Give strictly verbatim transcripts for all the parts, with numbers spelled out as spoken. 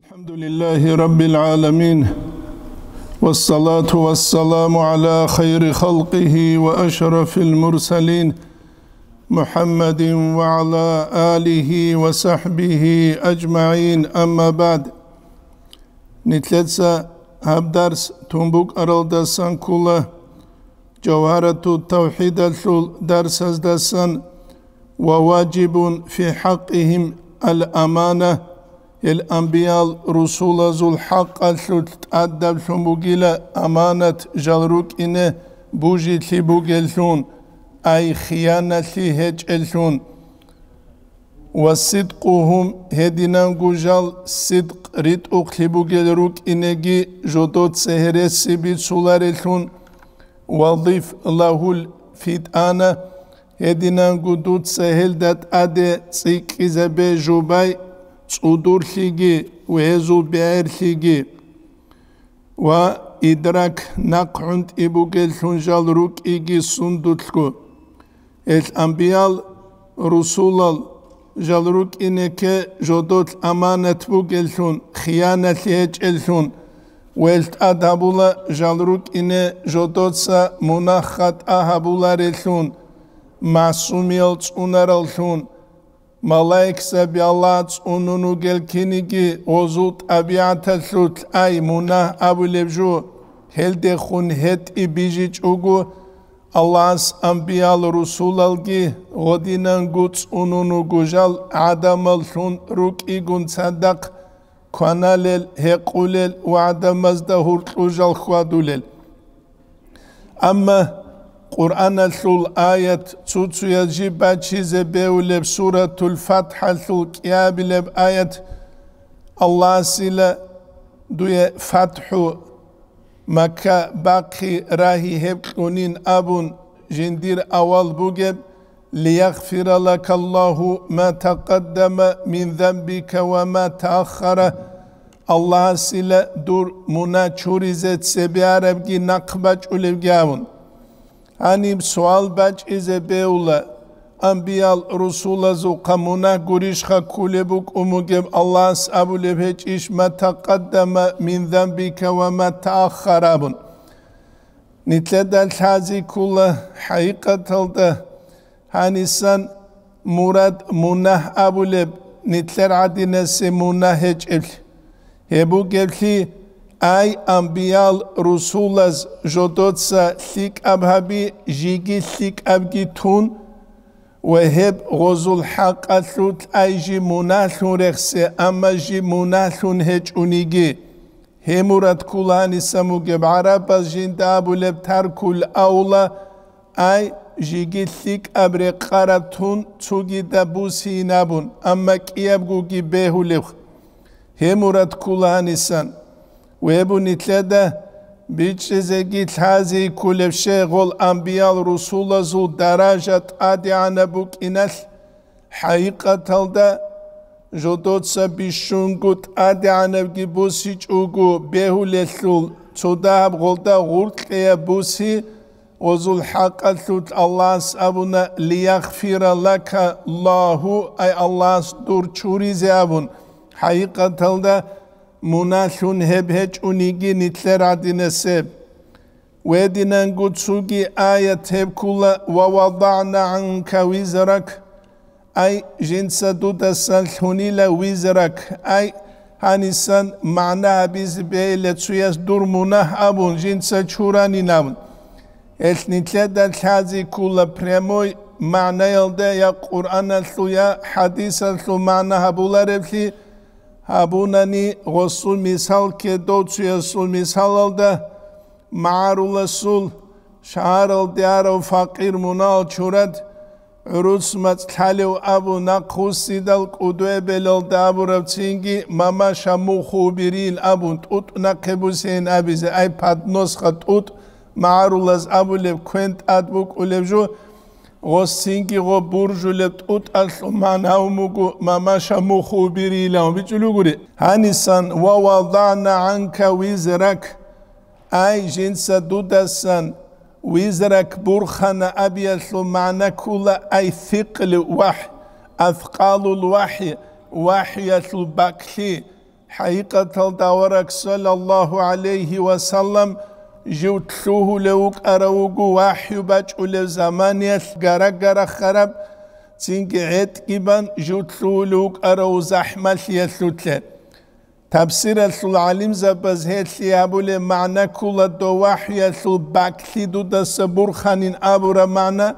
الحمد لله رب العالمين، والصلاة والسلام على خير خلقه وأشرف المرسلين، محمد وعلى آله وصحبه أجمعين، أما بعد. Нилъеца гьаб дарс тун букӀаралдасан ккола Жавгьарату тавхидалъул дарсаздасан: «Ва ваджибун фи хӀакъигьим ал-амана», гьел анбиял-русулазул хӀакъалъулъ тӀадаблъун бугила аманат жал рукӀине бужилъи бугеллъун, ай хияналъи гьечӀеллъун. «Ва сидкъугьум», гьединанго жал сидкъ ритӀухълъи бугел рукӀинеги жодоца гьереси бицуларелъун, «ва диф лагьул фитӀана», гьединанго дуца гьелда тӀаде цӀикӀкӀизабе жубай цӀудурлъиги ва гьезул бегӀерлъиги. Ва идрак, нахъ гӀунтӀи бугеллъун жал рукӀиги сундулъго. Гьел анбиял русулал жал рукӀинеке жодолъ аманат бугеллъун, хияналъи гьечӀеллъун, ва гьел тӀад гьабула жал рукӀине жодоца мунагь-хатӀа гьабулареллъун, масумиял цӀунараллъун, малаикзаби Аллагь цӀунун вугел киниги гъозул тӀабигӀаталъулъ, ай мунагь абулеб жо, гьелдехун гьетӀи бижичӀого, Аллагьас анбиял-русулалги гъодинанго цӀунун вуго жал гӀадамаллъун рукӀигун цадахъ кваналел, гьекъулел ва гӀадамазда гьуркьу жал хьвадулел. Амма Къуръаналъул аят, цо-цояз жиб бачизе бевулеб Суратул ФатхӀалъул кӀиабилеб аят, Аллагьасила дуе фатхӀу, Макка бахъи рагьи гьеб кьунин абун жиндир авал бугеб, «Лиягъфира лака Аллагьу ма такъаддама мин занбика ва ма тааххара», Аллагьасила дур мунагь чуризе цебе арабги нахъ бачӀулебги абун. Гьаниб суал бачӀизе бевла, анбиял-русулазухъа мунагь гурищха ккулеб букӀун бугеб Аллагьас абулеб гьечӀищ «ма такъаддама мин занбика ва ма тааххар» абун? Нилъеда лъази ккула хӀакъикъаталда гьанисан мурад мунагь абулеб, нилъер гӀадинасе мунагь гьечӀеблъи. Гьеб бугеблъи, ай анбиял-русулаз жодоца лъикӀаб гьаби, жиги лъикӀабги тун, ва гьеб гъозул хӀакъалъулъ ай жи мунагьлъун рехсе, амма жи мунагьлъун гьечӀониги. Гьеб мурад ккула гьанисан бугеб гӀарабаз жинда абулеб таркул авла, ай жиги лъикӀаб рекъараб тун цогидаб бусин абун, амма кӀиябгоги бегьулеб. Гьеб мурад ккула гьанисан. Гьеб нилъеда бичӀчӀизеги лъази кколеб щай гъол анбиял-русулазул даража тӀадегӀанаб букӀиналъ, хӀакъикъаталда жодоца бищунго тӀадегӀанабги бусичӀого бегьулелъул, цо дагьаб гъолда гъоркьеяб буси, гъозул хӀакъалъулъ Аллагьас абуна: «Лиягъфира лака Аллагьу», ай Аллагьас дур чуризе абун, хӀакъикъаталда мунагьлъун гьеб гьечӀониги нилъер гӀадинасеб. Гьединанго цоги аят гьеб ккула: «Ва вадагӀна гӀанка визрак», ай жинца дудасан лъунила визрак, ай гьанисан магӀна гьабизе бегьила цояс дур мунагь абун, жинца чуранин абун. Гьелъ нилъеда лъази ккула прямой магӀнаялда я Къуръаналъул, я хӀадисалъул магӀна гьабулареблъи гьабунани, гъосул мисал ккедов цоясул мисалалда, магӀаруласул шагьаралде арав факъир мунагьал чурад, гӀурус мацӀ лъалев абун, нахъвуссидал кӀудуе-белалда абураб цинги, мамаша муху бирил абун, тӀутӀ нахъе бусейин абизе, ай подносха тӀутӀ, магӀарулаз абулеб, квен тӀад букӀулеб жо, гъос цинги гъо буржулеб тӀутӀалъул магӀна гьавун буго, мамаша муху бирилан бичӀчӀулугури. Гьанисан: «Ва вадагӀна гӀанка визрак», ай жинца дудасан визрак бурхана абиялъул магӀна ккула, ай сикълу вахӀ, аскъалул вахӀи, вахӀиялъул бакӀлъи, ХӀакъикъаталда авараг саллаллагьу гӀалайгьи ва саллам жив лъугьулев вукӀарав вуго вахӀю бачӀулев заманиялъ гара-гара хараб, цинги гӀетӀги бан жив лъугьулев вукӀарав захӀмалъиялъулъе. Тафсиралъул гӀалимзабаз гьелъие гьабулеб магӀна ккола дов вахӀюялъул бакълъи дудаса бурханин абураб магӀна,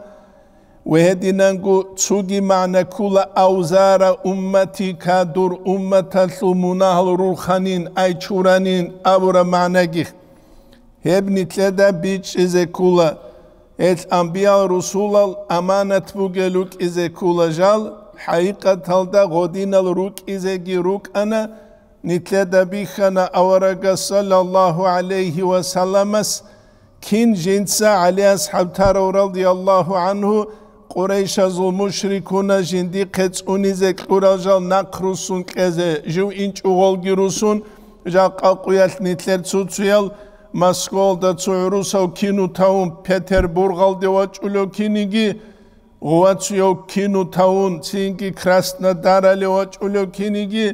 ва гьединанго цоги магӀна ккола авзара умматика, дур умматалъул мунагьал рурханин, ай чуранин абураб магӀнаги. Гьеб нилъеда бичӀчӀизе ккола, гьел анбиял-русулал аманат бугел рукӀизе ккола жал, хӀакъикъаталда гъодинал рукӀизеги рукӀана, нилъеда бихьана аварагас саллаллагьу гӀалайгьи ва салламас, кин жинца ГӀали асхӀаб тарав радияллагьу гӀангьу, Къурайшазул мушрикуназ жиндихъе цӀунизе кьурал жал нахъ руссун кьезе, жив инчӀого гъолги руссун, жакъа къуялъ нилъер цо-цоял Москвалда цо гӀурусав кино тавун Петербургалде вачӀулев киниги, гъувацуяв кино тавун цинги Краснодарале вачӀулев киниги,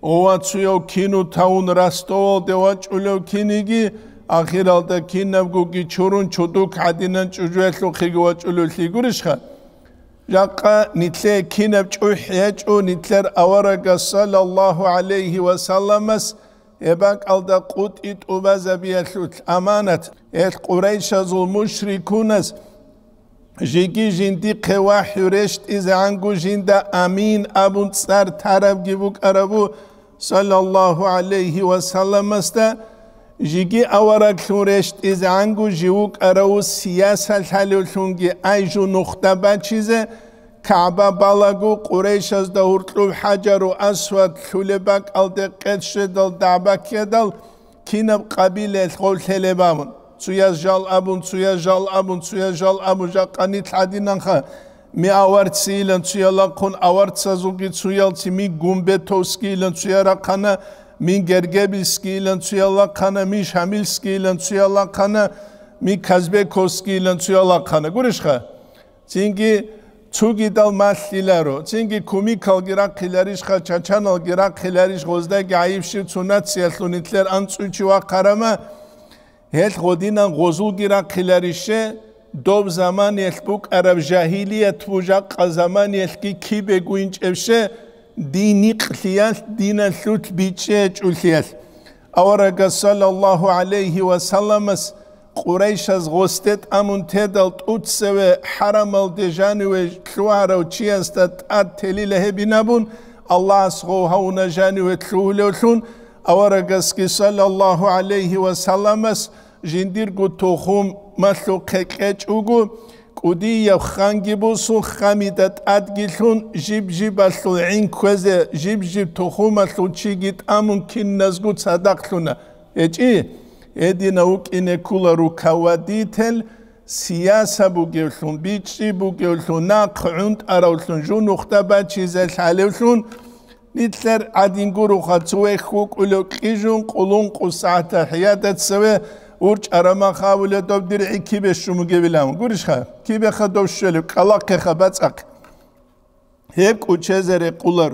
гъувацуяв кино тавун Ростовалде вачӀулев киниги, ахиралда кинабгоги чурун чудук гӀадинан чӀужуялъухъеги вачӀулевлъи гурищха? Жакъа нилъее кинаб чӀухӀ гьечӀо нилъер аварагас саллаллагьу гӀалайгьи ва салламас гьеб бакӀалда къотӀи тӀубазабиялъулъ аманат, гьел Къурайшазул мушрикуназ жеги жиндихъе вахӀю рещтӀизегӀанго жинда амин абун цӀар тарабги букӀарабу, саллаллагьу гӀалайгьи ва салламасда, жеги авараглъун рещтӀизегӀанго жив вукӀарав сиясалъ гьалевлъунги ай жо нухда бачизе, КагӀба балаго, Къурайшазда гьуркьуб ХӀажару Асвад лъулеб бакӀалде къед щведал дагӀба ккедал, кинаб къабилаялъ гъов лъелеб абун, цояз жал абун, цояз жал абун, цояз жал абун, жакъа нилъ гӀадинанха, ми аварцийилан цоял рахъун, аварцазулги цоялци, ми гумбетовскийилан цоял рахъана, мин гергебильскийилан цоял рахъана, ми шамильскийилан цоял рахъана, ми казбековскийилан цоял рахъана. Гурищха? Цинги цугидал малъиларо, цинги кумикалги рахъиларищха, чачаналги рахъиларищ, гъоздаги гӀайибщив цо нациялъул нилъер анцӀучи вахъарама, гьелъ гъодинан гъозулги рахъиларище, доб заманиялъ букӀараб жагьилият бужахъа заманиялъги кибего инчӀебще, дин никълъиялъ, диналъулъ бичӀчӀи гьечӀолъиялъ. Аварагас саллаллагьу гӀалайгьи ва салламас Къурайшаз гъосде тӀамун тедал тӀуцеве хӀарамалде жаниве лъугьарав чиясда тӀад телила гьебинабун, Аллагьас гъов гьавуна жаниве лъугьулевлъун, аварагасги саллаллагьу гӀалайгьи ва салламас жиндирго тухумалъухъе кьечӀого, кӀудияб ханги бусун, хамида тӀадги лъун, жиб-жибалъул гӀин кквезе, жиб-жиб тухумалъул чиги тӀамун киназго цадахълъуна. ГьечӀи, гьединав вукӀине ккола руководитель, сияса бугевлъун, бичӀчӀи бугевлъун, нахъ гӀунтӀаравлъун, жунухда бачизе лъалевлъун, нилъер гӀадин гуроха, цо вехь вукӀулев кьижун, къулун къу сагӀат тахӀиятда цеве урчӀараб мах абулеб доб диргӀи кибе щун бугебилан. Гурищха? Кибеха дов щвелеб? КӀалахъеха, бацӀахъе. Гьеб кӀучезе рекъулар.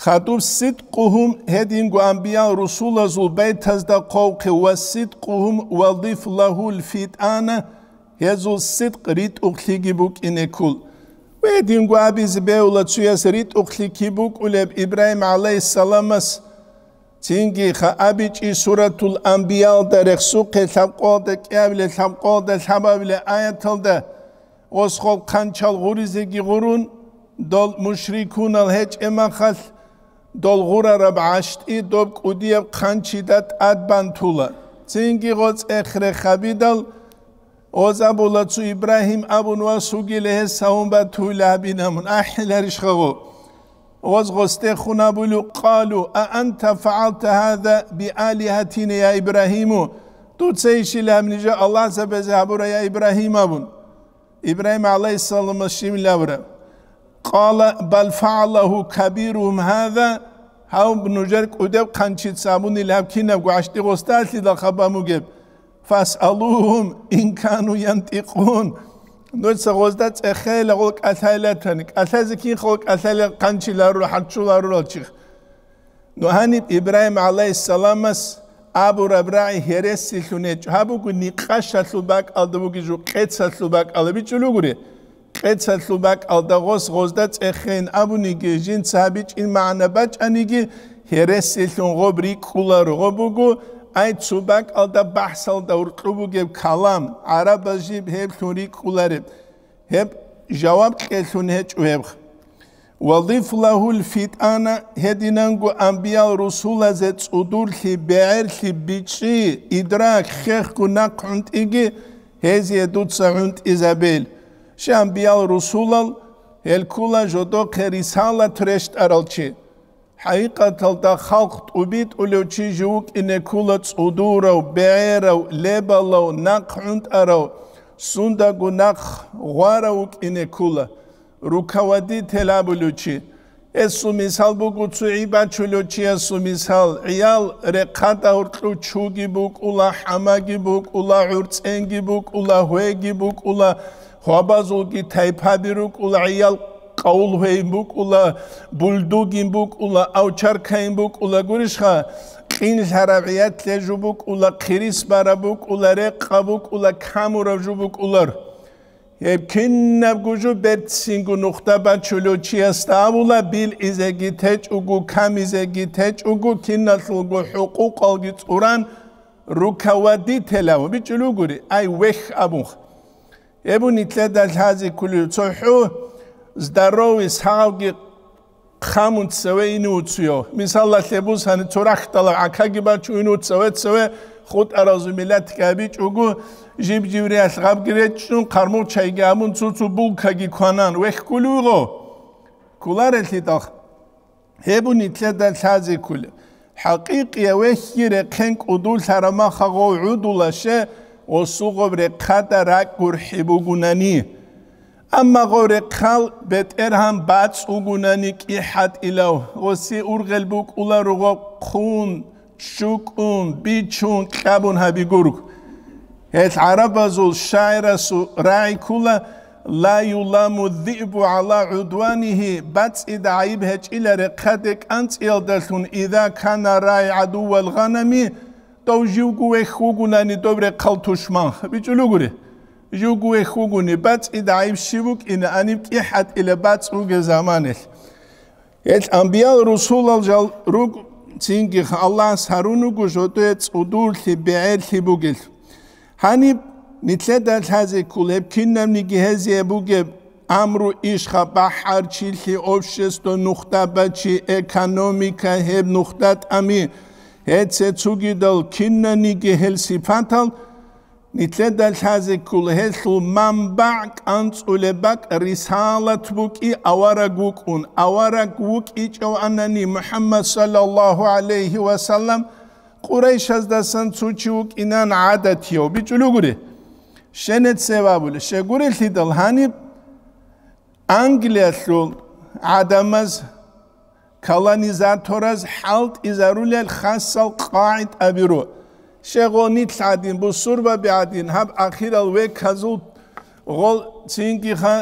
Хадуб сидкъугьум, гьединго анбиял-русулазул байтазда хъвавхъе, ва сидкъугьум вадиф лагьул фитӀана, гьезул сидкъ ритӀухълъиги букӀине ккол. Гьединго абизе бегьула цояс ритӀухълъи киб букӀулеб Ибрагьим гӀалайгьиссаламас. Цинги ха абичӀи Суратул Анбиялда рехсухъе лъабкъоялда кӀиабиле, лъабкъоялда лъабабиле аяталда, Гъос хъанчал гъуризеги гъурун, дол мушрикунал гьечӀеб махалъ, дол гъурараб гӀащтӀи доб кӀудияб хъанчида тӀад бантула. Цинги гъоцӀ эхре хабидал, гъоз абула цо Ибрагьим абун вас вугила гьес гьавун батуйла гьабинамун, ахӀиларищха гъо? Гъоз гъосдехун абулев, къалу: «А анта фагӀалта гьаза биалигьатина, я Ибрагьиму?» Дуца ишила гьаб нижа Аллагьзабазе гьабура, я Ибрагьим, абун. Ибрагьим гӀалайгьиссаламас щиб абураб? Къала: «Бал фагӀалагьу кабиругьум гьаза», гьав нужер кӀудеб хъанчица абунила гьаб кинабго гӀащтӀи гъосдалъидал хабамугеб. «Фасъалугьум ин кану янтӀикъун». Нужеца гъозда цӀехейила гъол кӀалъайилатани, кӀалъазе кинха гъол кӀалъайила хъанчиларура, хӀарччуларурал чихъ. Ну гьаниб Ибрагьим гӀалайгьиссаламас абураб рагӀи гьересилъун гьечӀо. Гьаб буго никъашалъул бакӀалда бугеб жо, къецалъул бакӀалда бичӀчӀулев гури. Къецалъул бакӀалда гъос гъозда цӀехейин абуниги, жинца гьабичӀин магӀна бачӀаниги, гьересилъун гъоб рикӀкӀуларо. Гъоб буго, ай, цо бакӀалда бахӀсалда гьоркьоб бугеб калам, гӀарабаз жиб гьеблъун рикӀкӀулареб. Гьеб жаваб кьелъун гьечӀо гьеб. Ва диф лагьул фитӀана, гьединанго амбиял-русулазе цӀудурлъи, бегӀерлъи, бичӀчӀи, идрак, хехго нахъ гӀунтӀиги гьезие дуца гӀунтӀизабейил. Щай амбиял-русулал, гьел ккула жодохъе рисалат рещтӀарал чи. ХӀакъикъаталда халкъ тӀубитӀулев чи жив вукӀине ккула цӀудурав, бегӀерав, лебалав, нахъ гӀунтӀарав, сундаго нахъ гъварав вукӀине ккула, руководитель абулев чи. Гьесул мисал буго цо гӀи бачулев чиясул мисал: гӀиял рехъада гьоркьов чуги букӀула, хӀамаги букӀула, гӀурцӀенги букӀула, гьвеги букӀула, гьвабазулги тайпаби рукӀула, гӀиял къавул гьвейин букӀула, бульдогин букӀула, овчаркайин букӀула, гурищха, къинлъараб гӀиятлъе жо букӀула, хъирис бараб букӀула, рекъа букӀула, камураб жо букӀулар. Гьеб кинабго жо берцинго нухда бачулев чиясда абула, билгӀизеги течӀого, камизеги течӀого, киналъулго хӀукъукъалги цӀуран, руководитель абун бичӀчӀулев гури, ай, вехь абун. Гьеб нилъеда лъазе кколев цохӀо, здоровый, сагъавги хъамун цеве ине уцуяв. Мисалалъе бусани, цо рахьдалав гӀакаги бачун ине уцеве-цеве хутӀаразул миллатги гьабичӀого, жиб-жибриялъ гъабги речӀчӀун, хъармугъ чайги гьабун, цо-цо булкаги кванан, вехь кколев гъо. Кколарелъидал. Гьеб нилъеда лъазе кколеб. ХӀакъикъияв вехьги рехъен кӀудулъараб махагъов гӀудулаще, гъосул гъоб рехъада ракӀ гурхӀи бугунани. Амма гъов рехъал бетӀергьан бацӀ вугунани кӀихӀатӀилав, гъосие ургъел букӀула ругъо хъун, чукӀун, бичун, кьабун гьаби гург. Гьел гӀарабазул шагӀирасул рагӀи ккула: «Ла юламу ззиъбу гӀала гӀудванигьи», бацӀцӀида гӀайиб гьечӀила рехъаде кӀанцӀиялдалъун, «иза кана рагӀи гӀадуввал гъанами», дов живго вехь вугунани доб рехъал тушман, бичӀулев гури. Живго вехь вугуни, бацӀцӀида гӀайиб щиб букӀина, гьаниб кӀихӀатӀила бацӀ бугеб заманалъ. Гьел амбиял-русулал жал руго, цинги Аллагьас гьарун руго жодое цӀудурлъи, бегӀерлъи бугел. Гьаниб нилъеда лъазе ккол гьеб кинабниги гьезие бугеб амру ишха, бахӀарчилъи, общество, нухда бачи, экономика, гьеб нухда тӀами, гьеце цугидал кинаниги гьел сипатал, нилъеда лъазе ккола гьелъул манбагӀ, кӀанцӀулеб бакӀ рисалат букӀи, авараг вукӀун. Авараг вукӀичӀев анани МухӀаммад саллаллагьу гӀалайгьи ва саллам, Къурайшаздасан цо чи вукӀинан гӀадатияв, бичӀулев гури. Щенецев абулеб, щегурелъидал гьаниб Англиялъул гӀадамаз, колонизатораз хӀалтӀизарулел хасал къагӀидаби ру. Щегъонилъ гӀадин, бусурбаби гӀадин, гьаб ахирал веказул гъол цинги ха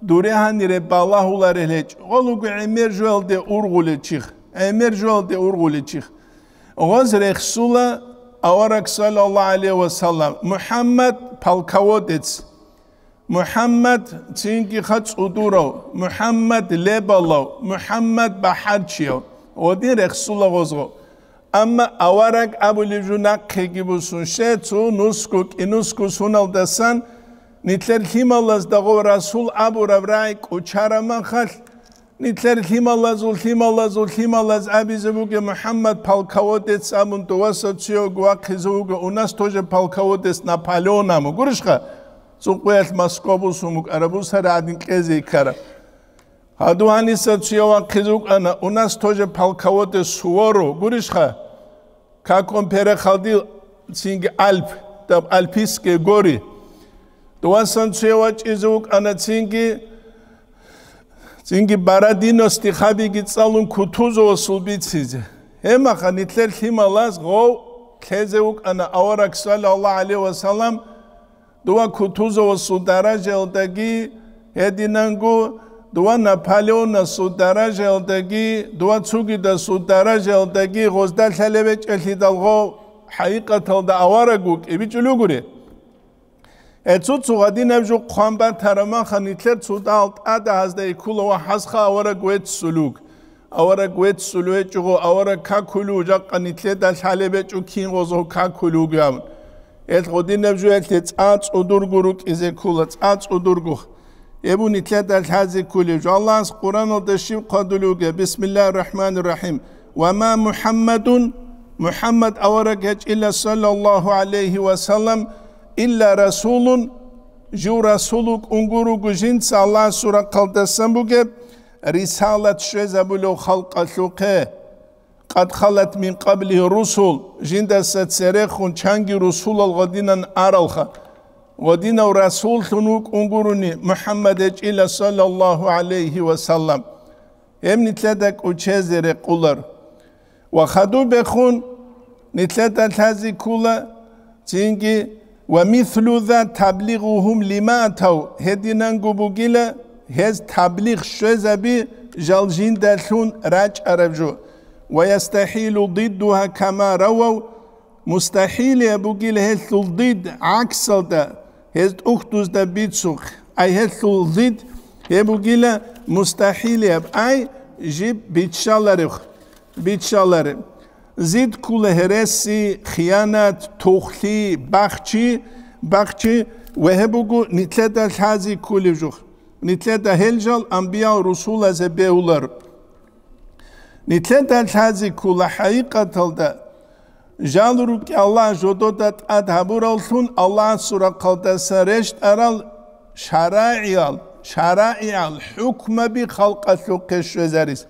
дуре гьанире балагьуларел гьечӀо. Гъол вуго гӀемер жоялде ургъулел чих, гӀемер жоялде ургъулел чих. Гъоз рехсула авараг, саллаллагьу гӀалайгьи ва саллам, МухӀаммад полководец. МухӀаммад цинги ха цӀудурав, МухӀаммад лебалав, МухӀаммад бахӀарчияв, гъодин рехсула гъозго. Амма авараг абулеб жо нахъеги бусун, щай цо нусго, кӀинусго суналдасан, нилъер лъималазда гъов расул абураб рагӀи кӀочараб махалъ, нилъер лъималазул, лъималазул, лъималаз абизе бугеб МухӀаммад полководец абун, доваса цуяв вахъизе вуго, у нас тоже полководец Наполеон абун. Гурищха? Цо къоялъ Москва бусун букӀараб, бусара гӀадин кьезе ккараб. Гьадугьаниса цуяв вахъизе вукӀана, у нас тоже полководец Суворов. Гурищха? Как он переходил цинги Альп, там Альпийские горы. Довасан цуяв вачӀизе вукӀана цинги, цинги Бородино стихабиги цӀалун Кутузовасул бицизе. Гьебмаха нилъер лъималаз гъов лъезе вукӀана авараг, саллаллагьу гӀалайгьи ва саллам, дова Кутузовасул даражаялдаги гьединанго Дова Наполеонасул даражаялдаги, дова цугидасул даражаялдаги гъозда лъалеб гьечӀелъидал гъов хӀакъикъаталда авараг вукӀи бичӀулев гури. Гьецо цо гьадинаб жо хъван батараб маха, нилъер цо дагьал тӀада гьазда иккула ва хӀасха авараг веццулуг. Авараг веццулев гьечӀого, авараг какулев, жакъа нилъеда лъалеб гьечӀо кин гъозго какулев вугев абун. Гьел гъодинаб жуялъе цӀа цӀудурго рукӀизе ккола, цӀа цӀудурго. Гьеб нилъеда лъазе кколеб жо. Аллагьас Къуръаналда щиб хъвадулев вугеб? Бисмиллагьир рахӀманир рахӀим. «Ва ма МухӀаммадун», МухӀаммад авараг гьечӀила, саллаллагьу гӀалайгьи ва саллам, «илла расулун», жив расул вукӀун гуруго жинца Аллагьасул рахъалдасан бугеб рисалат щвезабулев халкъалъухъе. «Къад халат мин къаблигьи русул», жиндаса церехун чанги русулал гъодинан аралха. Гъодинав расуллъун вукӀун гурони МухӀаммад гьечӀила, саллаллагьу гӀалайгьи ва саллам. Гьеб нилъеда кӀочезе рекъолар. Ва хадубехун нилъеда лъазе ккола цинги: «Ва мислу за таблигъугьум лима атав», гьединанго бугила гьез таблигъ щвезаби жал жиндалъун рачӀараб жо. «Ва ястахӀилу диддугьа кама равав», мустахӀилияб бугила гьелъул дид гӀаксалда, гьез тӀухьдузда бицухъ, ай гьелъул дид гьеб бугила мустахӀилияб, ай жиб биччаларев, биччалареб. Зид ккула гьереси, хиянат, тухлъи, бахчи, бахчи ва гьеб буго нилъеда лъазе кколеб жо. Нилъеда гьел жал анбиял русулазе бегьулар. Нилъеда лъазе ккола хӀакъикъаталда жал рукӀи Аллагь жодода тӀад гьабураллъун Аллагьасул рахъалдаса рещтӀарал шарагӀиял, шарагӀиял хӀукмаби халкъалъухъе щвезарис.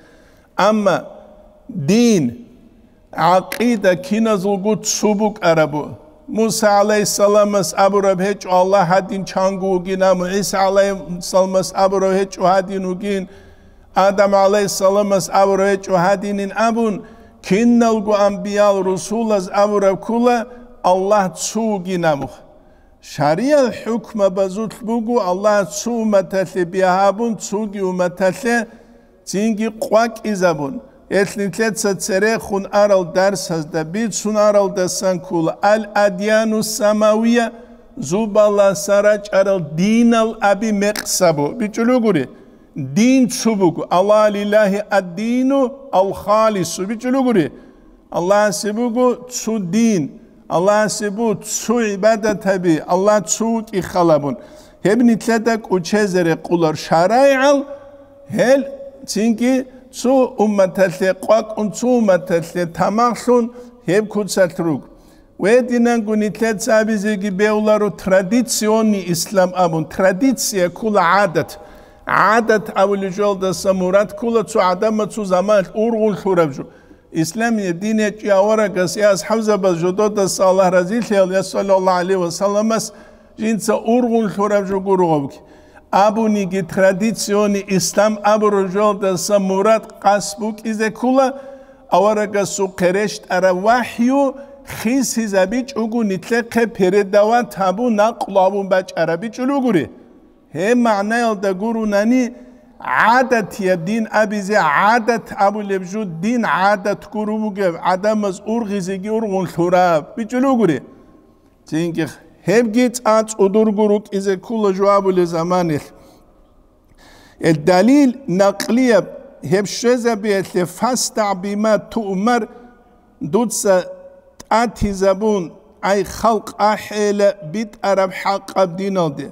Амма дин, гӀакъида киназулго цо букӀарабу. Муса гӀалайгьиссаламас абураб гьечӀо Аллагь гьадин чанго вугин абун, ГӀиса гӀалайгьиссаламас абураб гьечӀо гьадин вугин, Адам гӀалайгьиссаламас абураб гьечӀо гьадинин абун, киналго анбиял русулаз абураб ккола Аллагь цо вугин абун. Шариял хӀукмабазулъ буго Аллагь цо умматалъе бигьа гьабун, цоги умматалъе цинги къвакӀизабун. Гьелъ нилъеца церехун арал дарсазда бицун аралдасан ккола: «Ал-адьяну самавия», зубаласа рачӀарал динал аби мекъсабу. БичӀулугури, дин цо буго. «Алла лиллагьи ад-дину ал-халису», бичӀулугури. Аллагьасе буго цо дин, Аллагьасе буго цо гӀибадат гьаби, Аллагь цо вукӀи халабун. Гьеб нилъеда кӀочезе рекъолар шарагӀиял, гьел цинги цо умматалъе къвакӀун, цо умматалъе тамахлъун гьеб куцалъ руг. Гьединанго нилъеца абизеги бегьуларо традиционный ислам абун, традиция ккола гӀадат. ГӀадат абулеб жоялдаса мурад ккола цо гӀадамал цо заманалъ ургъун лъураб жо. Исламияб дин гьечӀеб аварагас я асхӀабзабаз жододаса Аллагь разилъаял я саллаллагьу гӀалайгьи ва салламас жинца ургъун лъураб жо гуро гьабги. Абуниги, традиционный ислам абураб жоялдаса мурад къасд букӀизе ккола аварагасухъе рещтӀараб вахӀю хисизабичӀого нилъехъе передавать гьабун, накълу гьабун бачӀараб бичӀулугури. Гьеб магӀнаялда гурунани, гӀадатияб дин абизе, гӀадат абулеб жо дин гӀадат гуро бугеб, гӀадамаз ургъизеги ургъун лъураб, бичӀулугури. Цинги гьебги цӀа цӀудурго рукӀизе ккола жо абулеб заманалъ. Гьел далил накълияб гьеб щвезабиялъе: «ФастагӀ бима туъмар», дуца тӀатизабун, ай халкъ ахӀейила битӀараб хӀакъаб диналде.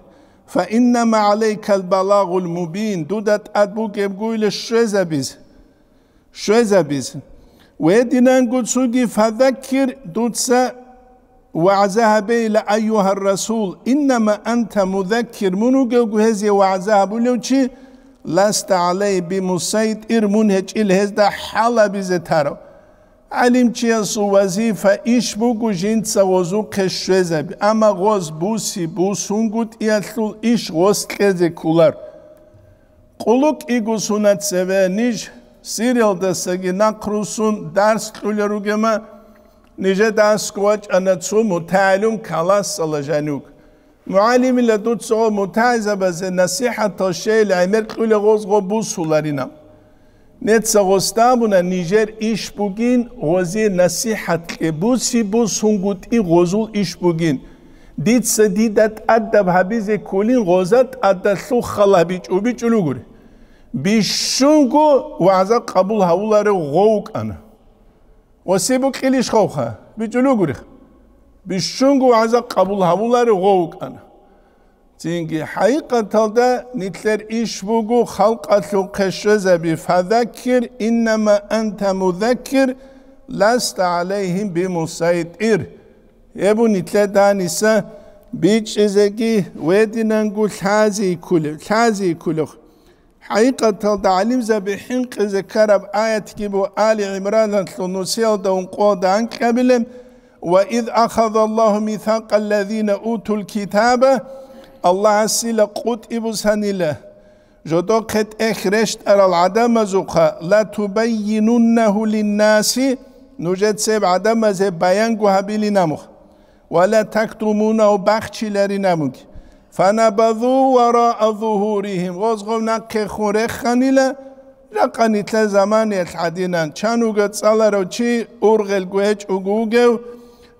«Фа иннама гӀалайкал балагъул мубин», дуда тӀад бугебгойила щвезабиз, щвезабиз. Гьединанго цоги: «Фазаккир», дуца вагӀза гьабейила, «айюгьар расул, иннама анта музаккир», мун вугевго гьезие вагӀза гьабулев чи, «ласта гӀалайгьим бимусайтӀир», мун гьечӀила гьезда хӀал гьабизе тарав. ГӀалимчиясул вазифа иш буго жинца гъозухъе щвезаби, амма гъоз буси-бусунгутӀиялъул иш гъос кьезе кколар. Къулу кӀиго сунат цеве ниж Сириялдасаги нахъ руссун дарс кьулел ругема, нижеда аскӀов вачӀана цо мутагӀалим классалда жанив. МугӀалимила дуца гъо мутагӀизабазе насихӀатал щейил гӀемер кьула гъоз гъо бусуларина. Неца гъосда абуна нижер иш бугин гъозе насихӀат кье, буси-бусунгутӀи гъозул иш бугин. Дица дида тӀадаб гьабизе кколин гъоза тӀадалъул хал гьабичӀо, бичӀчӀулугури. Бищунго вагӀза къабул гьавуларев гъов вукӀана. Гъосе букӀилищ гъовха? БичӀчӀулугурих. Бищунго вагӀза къабул гьавуларев гъов вукӀана. Цинги хӀакъикъаталда нилъер иш буго халкъалъухъе щвезаби: «Фазаккир, иннама анта музаккир, ласта гӀалайгьим бимусайтӀир». Гьеб нилъеда гьаниса бичӀчӀизеги вединанго лъази кколев, лъази кколев. ХӀакъикъаталда гӀалимзаби хӀинкъизе ккараб аятги бу Али ГӀимраналъул нусиялда ункъоялда анкьабилеб: «Ва из ахазаллагьу мисакъаллазина утул китаба», Аллагьасила къутӀи бусанила, жодохъе тӀехь рещтӀарал гӀадамазухъа: «Ла тубаййинуннагьу линнаси», нужецеб гӀадамазе баянго гьабилин амух. «Ва ла тактумунагьу», бахчиларин амуги. «Фанабазу вараа зугьуригьим», гъоз гъов нахъехун реханила, жакъа нилъер заманиялъ гӀадинан, чануга цӀаларав чи ургъелго гьечӀого вугев,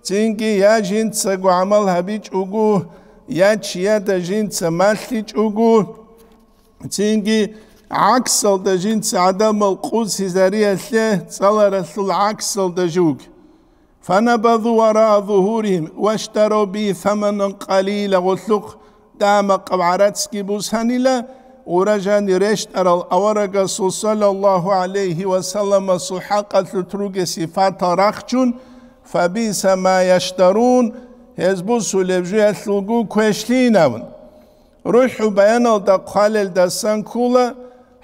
цинги я жинцаго гӀамал гьабичӀого, я чияда жинца малъичӀого, цинги гӀаксалда жинца гӀадамал къусизариялъе цӀаларалъул гӀаксалда жуги. «Фанабазу вараа зугьуригьим ваштарав би саманан къалила», гъолъухъ дамакъаб гӀарацги бусанила, гъура жани рещтӀарал аварагасул саллаллагьу гӀалайгьи ва салламасул хӀакъалъулъ ругел сипатал рахчун: «Фабиса ма яштарун», гьез бусулеб жуялъулго квешлъинавун. РухӀу баяналда хъвалелдасан ккола,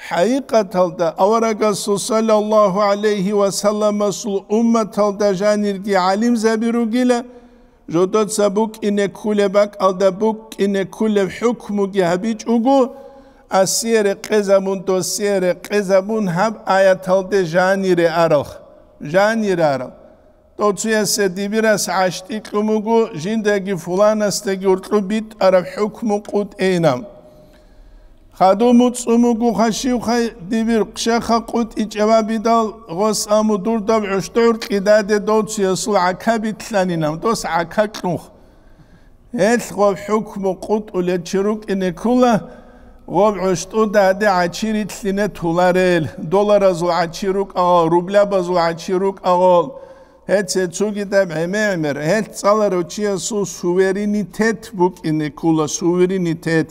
хӀакъикъаталда аварагасул саллаллагьу гӀалайгьи ва салламасул умматалда жанирги гӀалимзаби ругила, жодоца букӀине кколеб бакӀалда букӀине кколеб хӀукмуги гьабичӀого, асие рекъезабун, досие рекъезабун гьаб аяталде жанире арал, жанире арал. Дов цуясе дибирас гӀащтӀи кьун буго, жиндаги фуланасдаги уркьу битӀараб хӀукму къутӀейна. Хадуб муцӀцӀун буго хашивхай дибир хъшаха къутӀичӀеб абидал, гъос аму дурдаб гӀущтӀур кьидаде дов цуясул гӀака битлъанинам, дос гӀака кьунх. Гьелъ гъоб хӀукму къутӀулел чи рукӀине ккула, гъоб гӀущтӀуда гьаде гӀачи рилълъине туларел, долларазул гӀачи рукӀагъал, рублябазул гӀачи рукӀагъал, гьеце цугидаб гӀемер-гӀемер, гьелъ цӀаларав чиясул суверенитет букӀине ккула, суверенитет.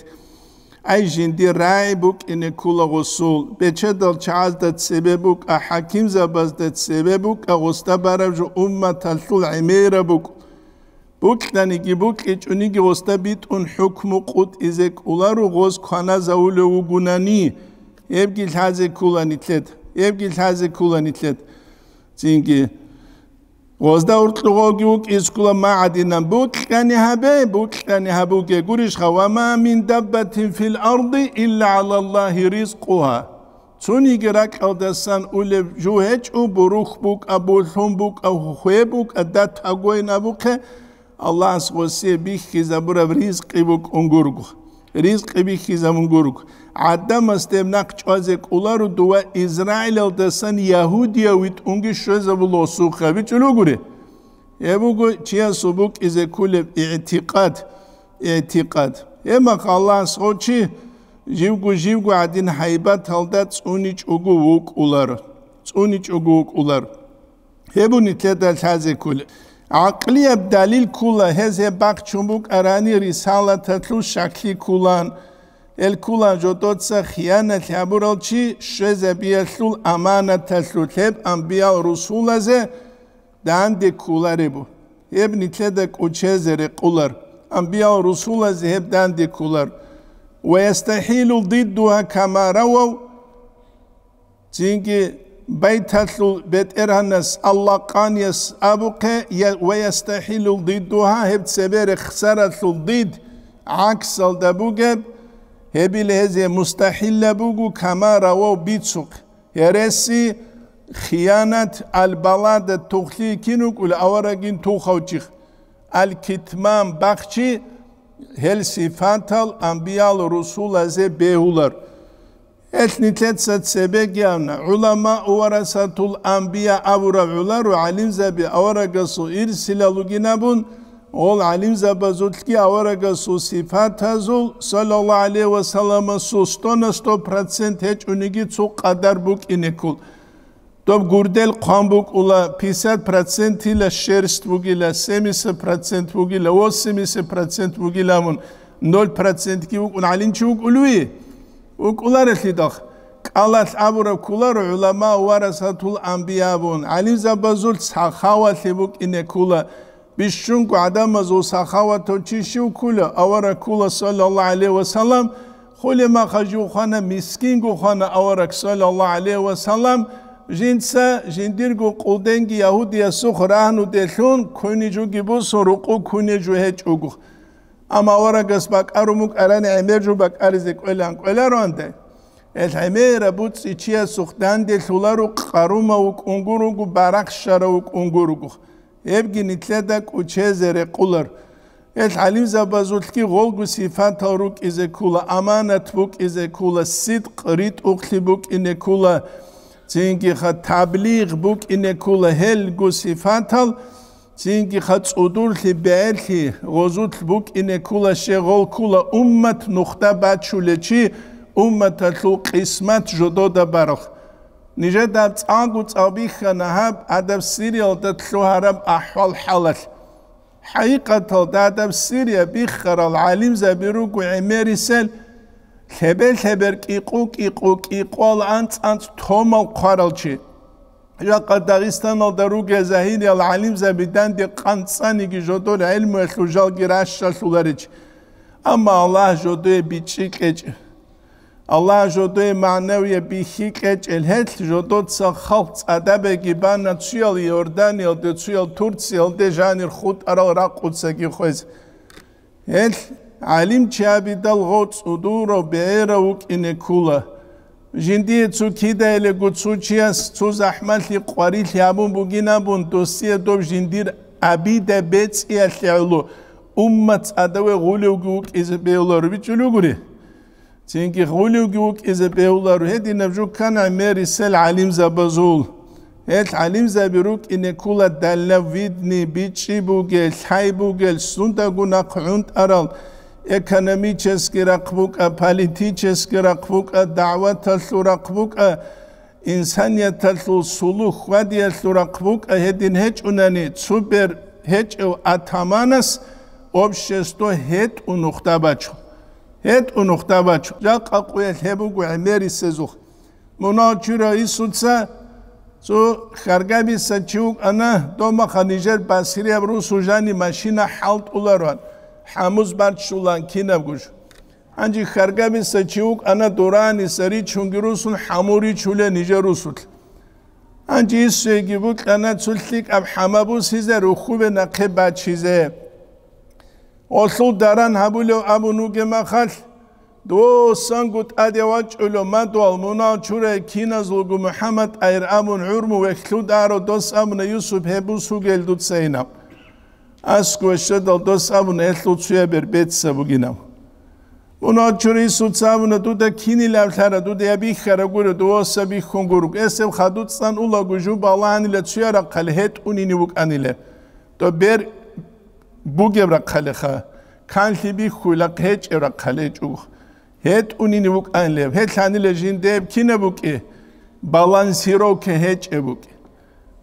Ай, жиндир рагӀи букӀине ккула гъусул, бечедал чагӀазда цебе букӀа, хӀакимзабазда цебе букӀа, гъусда бараб жо умматалъул гӀемераб букӀ. Букьаниги букьичӀониги гъосда битӀун хӀукму къутӀизе кӀоларо гъоз кваназавулев вугунани, гьебги лъазе ккула нилъед, гьебги лъазе ккула нилъед. Цинги гъозда уркьугъоги вукӀизе ккола магӀадинан: «Букьани гьабе, букьани гьабуге», гурищха: «Ва ма мин даббатин фил арди илла гӀалаллагьи ризкъугьа». Цониги ракьалдасан улеб жо гьечӀо, бурухь букӀа, булъун букӀа, хве букӀа, датагойн абухъе, Аллагьас гъосие бихьизабураб ризкъи букӀун гурго, ризкъи бихьизабун гурго. ГӀадамас деб нахъ чӀвазе кӀоларо дова Израилалдасан Ягьудия витӀунги щвезабула гъосухъе, бичӀчӀулугури. Гьеб буго чиясул букӀизе кколеб игӀтикъад, игӀтикъад. Гьебмахъ Аллагьас гъов чи живго-живго гӀадин гьайбаталда цӀуничӀого вукӀулар, цӀуничӀого вукӀулар. Гьеб нилъеда лъазе ккола. ГӀакълияб далил ккола, гьез гьеб бахчун букӀарани рисалаталъул щаклъи кколан. Гьел кколан жодоца хияналъ гьабурал чи щвезабиялъул аманаталъулъ гьеб амбиял-русулазе данде кколареб. Гьеб нилъеда кӀочезе рекъолар, амбиял-русулазе гьеб данде кколар. Ва ястахӀилу диддугьа кама равав, цинги байталъул бетӀергьанас Аллагъанияс абухъе, я-, ва ястахӀилу диддугьа, гьеб цебе рехсаралъул дид гӀаксалда бугеб, гьебил гьезие мустахӀилла буго, кама равав бицухъ. Гьереси, хиянат, албалада тухлъи кин вукӀула аварагин тухавчи, алкитман бахчи, гьел сифатал амбиял русулазе бегьулар. Гьелъ нилъеца цебегиявна, гӀуламаъ варасатул амбия абураб гӀоларо гӀалимзаби аварагасул ирсилал ругин абун, гъол гӀалимзабазулъги аварагасул сифатазул, саллаллагьу гӀалайгьи ва салламасул, сто на сто процент гьечӀониги цо къадар букӀине ккола. Доб гурдел хъван букӀула, пятьдесят процентила шерсть бугила, семьдесят процент бугила, восемьдесят процент бугила абун, ноль процентги вукӀун гӀалимчи вукӀулев? ВукӀуларелъидал. КӀалалъ абураб кколаро гӀуламаъ варасатул амбия абун, гӀалимзабазулъ сахавалъи букӀине ккола. Бищунго гӀадамазул сахаватав чи щив ккула, авараг ккула, саллаллагьу гӀалайгьи ва саллам, хуле маха жив хвана, мискинго хвана авараг, саллаллагьу гӀалайгьи ва саллам, жинца жиндирго къулденги ягьудиясухъ рагьнуделъун ккуне жуги бусун рукъу ккуне жу гьечӀого. Амма аварагас бакӀарун букӀарани гӀемер жу бакӀаризе кӀвелан кӀвелароанде, гьел гӀемераб буцӀи чиясухъ данделъуларо, къарумав вукӀун гуруго, барахщарав вукӀун гуруго. Гьебги нилъеда кӀучезе рекъолар. Гьел гӀалимзабазулъги гъолго сифатал рукӀизе ккола, аманат букӀизе ккола, сидкъ ритӀухълъи букӀине ккола, цинги-ха таблигъ букӀине ккола, гьелго сифатал, цинги-ха цӀудурлъи, бегӀерлъи гъозулъ букӀине ккола, щегъол ккола уммат нухда бачулечи, умматалъул къисмат жодода баралъ. Нижеда гьаб цӀалго цӀал бихьана гьаб гьадаб Сириялда лъугьараб ахӀвал-хӀалалъ. ХӀакъикъаталда гьадаб Сирия биххарал гӀалимзаби руго гӀемерисел, лъебе-лъебер кӀикъу-кӀикъу кӀикъуял анцӀ-анцӀ томал хъварал чи. Жакъа Дагъистаналда ругел загьириял гӀалимзаби данде къанцӀаниги жодор гӀелмуялъул жалги ращалъуларич. Амма Аллагь жодое бичӀчӀи кьечӀ. Аллагь жодое магӀнавияб бихьи кьечӀел гьелъ жодоца халкъ цӀадабеги бана цуял Иорданиялде, цуял Турциялде жанир хутӀарал ракъуцаги хвез. Гьелъ гӀалимчи абидал гъо цӀудурав бегӀерав вукӀине ккула. Жиндие цо кидайилего цо чияс цо захӀмалъи къварилъи гьабун бугин абун, досие доб жиндир абида бецӀиялъе гӀоло уммат цӀадаве гъулевги вукӀизе бегьуларо бичӀчӀулев гури. Цинги гъулевги вукӀизе бегьуларо гьединаб жуккан гӀемерисел гӀалимзабазул. Гьел гӀалимзаби рукӀине ккула дальновидный, бичӀчӀи бугел, лъай бугел, сундаго нахъ гӀунтӀарал, экономический рахъ букӀа, политический рахъ букӀа, дагӀваталъул рахъ букӀа, инсанияталъул сулух-хьвадиялъул рахъ букӀа гьедин гьечӀунани, цо бер гьечӀев атаманас общество гьетӀу нухда бачун. ГьетӀу нухда бачун. Жакъа къуялъ гьеб буго гӀемерисезухъ. Мунагь чура Исуца цо хьаргабиса чи вукӀана, домаха нижер басирияб русу жани машина хӀалтӀулароан, хӀамуз барччулан кинабгуш. Гьанже хьаргабиса чи вукӀана дораниса ричунги русун хӀаму ричуле нижер русулъ. Гьанже Исуеги букьана цо лъикӀаб хӀама бусизе, рухьубе нахъе бачизе. Гъолъул даран гьабулев абун вугеб махалъ, досанго тӀаде вачӀулев мадугьал мунагь чурай киназулго МухӀаммад айр абун гӀурму вехьлъударо дос абуна Юсуп гьеб бусугел дуца инаб. АскӀове щведал дос абуна гьелъул цуяб бер бецӀ бугинав. Мунагь чурай Исуца абуна, дуда кинилавлъара, дуда я бихьара гуро, дувоса бихьун гург. Эсеб хадуцӀцӀан улаго жуб балагьанила цуя рахъали гьетӀунини вукӀанила. Доб бер бугеб рахъалиха, канлъи бихьуйла гьечӀеб рахъаличӀого. ГьетӀунини вукӀанилеб, гьелъанила жиндеб кинаб букӀи, балансировка гьечӀеб букӀи.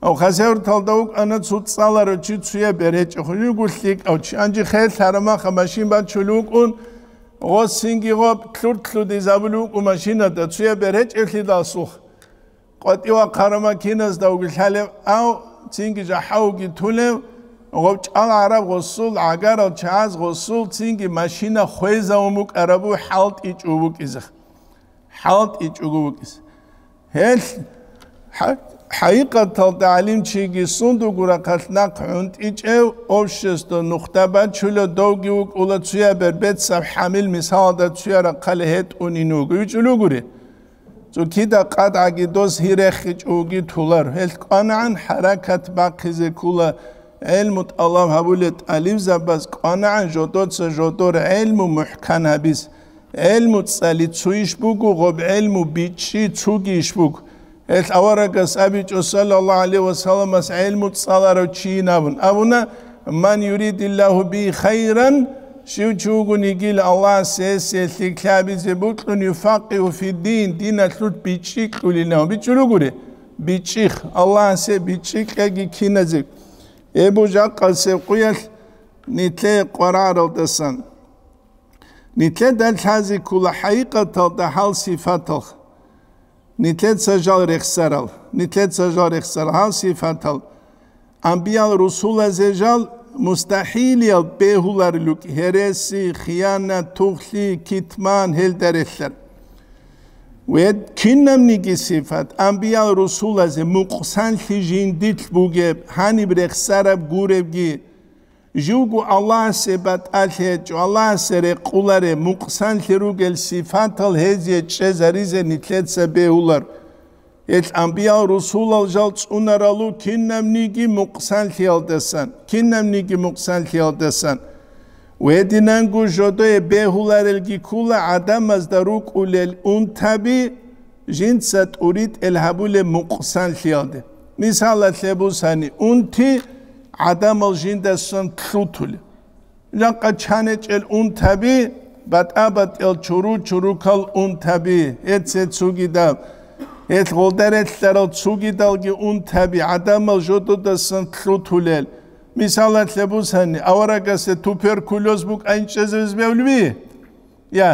Гьав хасавюрталда вукӀана цо цӀаларав чи цуяб бер гьечӀеб, хужуго лъикӀав чи. Гьанже хел гьарамаха машин бачулев вукӀун, гъосинги гъоб лъуртлъудизабулев вукӀу машинада цуяб бер гьечӀеблъидалсухъ. КъватӀивахъараб макиназда вугилъалев, ав цинги жахӀав вуги тулев, гъов чӀал гӀараб гъосул, гӀагарал чагӀаз гъосул цинги машина хвезавун букӀарабу хӀалтӀичӀо вукӀизе. ХӀалтӀичӀого вукӀизе. Гьелъ хӀа-, хӀакъикъаталда гӀалимчиги сундугу рахъалъ нахъ гӀунтӀичӀев, общество нухда бачула, довги вукӀула цуяб бер бецаб хӀамил мисалда цуя рахъали гьетӀунин вуго. ВичӀулугури? Цо кида къадгӀаги дос гьирехичӀоги тулар. Гьелъ кӀванагӀан хӀаракат бахъизе ккула, ГӀелму тӀалаб гьабулел тӀалибзабаз кӀванагӀан жодоца жодор гӀелму мухӀкан гьабиз. ГӀелму цӀали цуйищ буго, гъоб гӀелму бичӀчӀи цугийищ буго. Гьелъ аварагас абичӀо, саллаллагьу гӀалайгьи вассаламас гӀелму цӀаларав чийин абун. Абуна: «Ман юридиллагьу бигьи хайран», щив чи вугони гьел Аллагьас гьесие лъикӀлъи гьабизе бокьун, «юфаккигьу фиддин», диналъулъ бичӀчӀи кьулин абун. БичӀчӀи ругони? БичӀчӀи, Аллагьас гьеб бичӀчӀи кьеги киназе. Гьеб буго жакъасеб къуялъ нилъее къваригӀаралдасан. Нилъеда лъазе ккола хӀакъикъаталда гьал сипатал. Нилъеца жал рехсарал, нилъеца жал рехсарал гьал сипатал. Амбиял-русулазе жал мустахӀилиял бегьуларел руго: гьереси, хиянат, тугълъи, китман, гьелда релълъарал. Ва кинабниги сипат амбиял-русулазе мукъсанлъи жиндилъ бугеб, гьаниб рехсараб гуребги, живго Аллагьасе батӀалъи гьечӀо, Аллагьасе рекъолареб, мукъсанлъи ругел сипатал гьезие чӀезаризе нилъеца бегьулар. Гьел амбиял-русулал жал цӀунарал руго кинабниги мукъсанлъиялдасан, кинабниги мукъсанлъиялдасан. Гьединанго жодое бегьуларелги ккола гӀадамазда рукӀулел унтаби жинца тӀуритӀел гьабулеб мукъсанлъиялде. Мисалалъе бусани, унти гӀадамал жиндасан лъутулеб. Жакъа чанечӀел унтаби, батӀа-батӀиял чуру-чурукал унтаби, гьеце цугидаб, гьел гъолда релълъарал цугидалги унтаби, гӀадамал жододасан лъутулел. Мисалалъе бусани, аварагасе туберкулез букӀайин чӀезабиз бегьулеби? Я.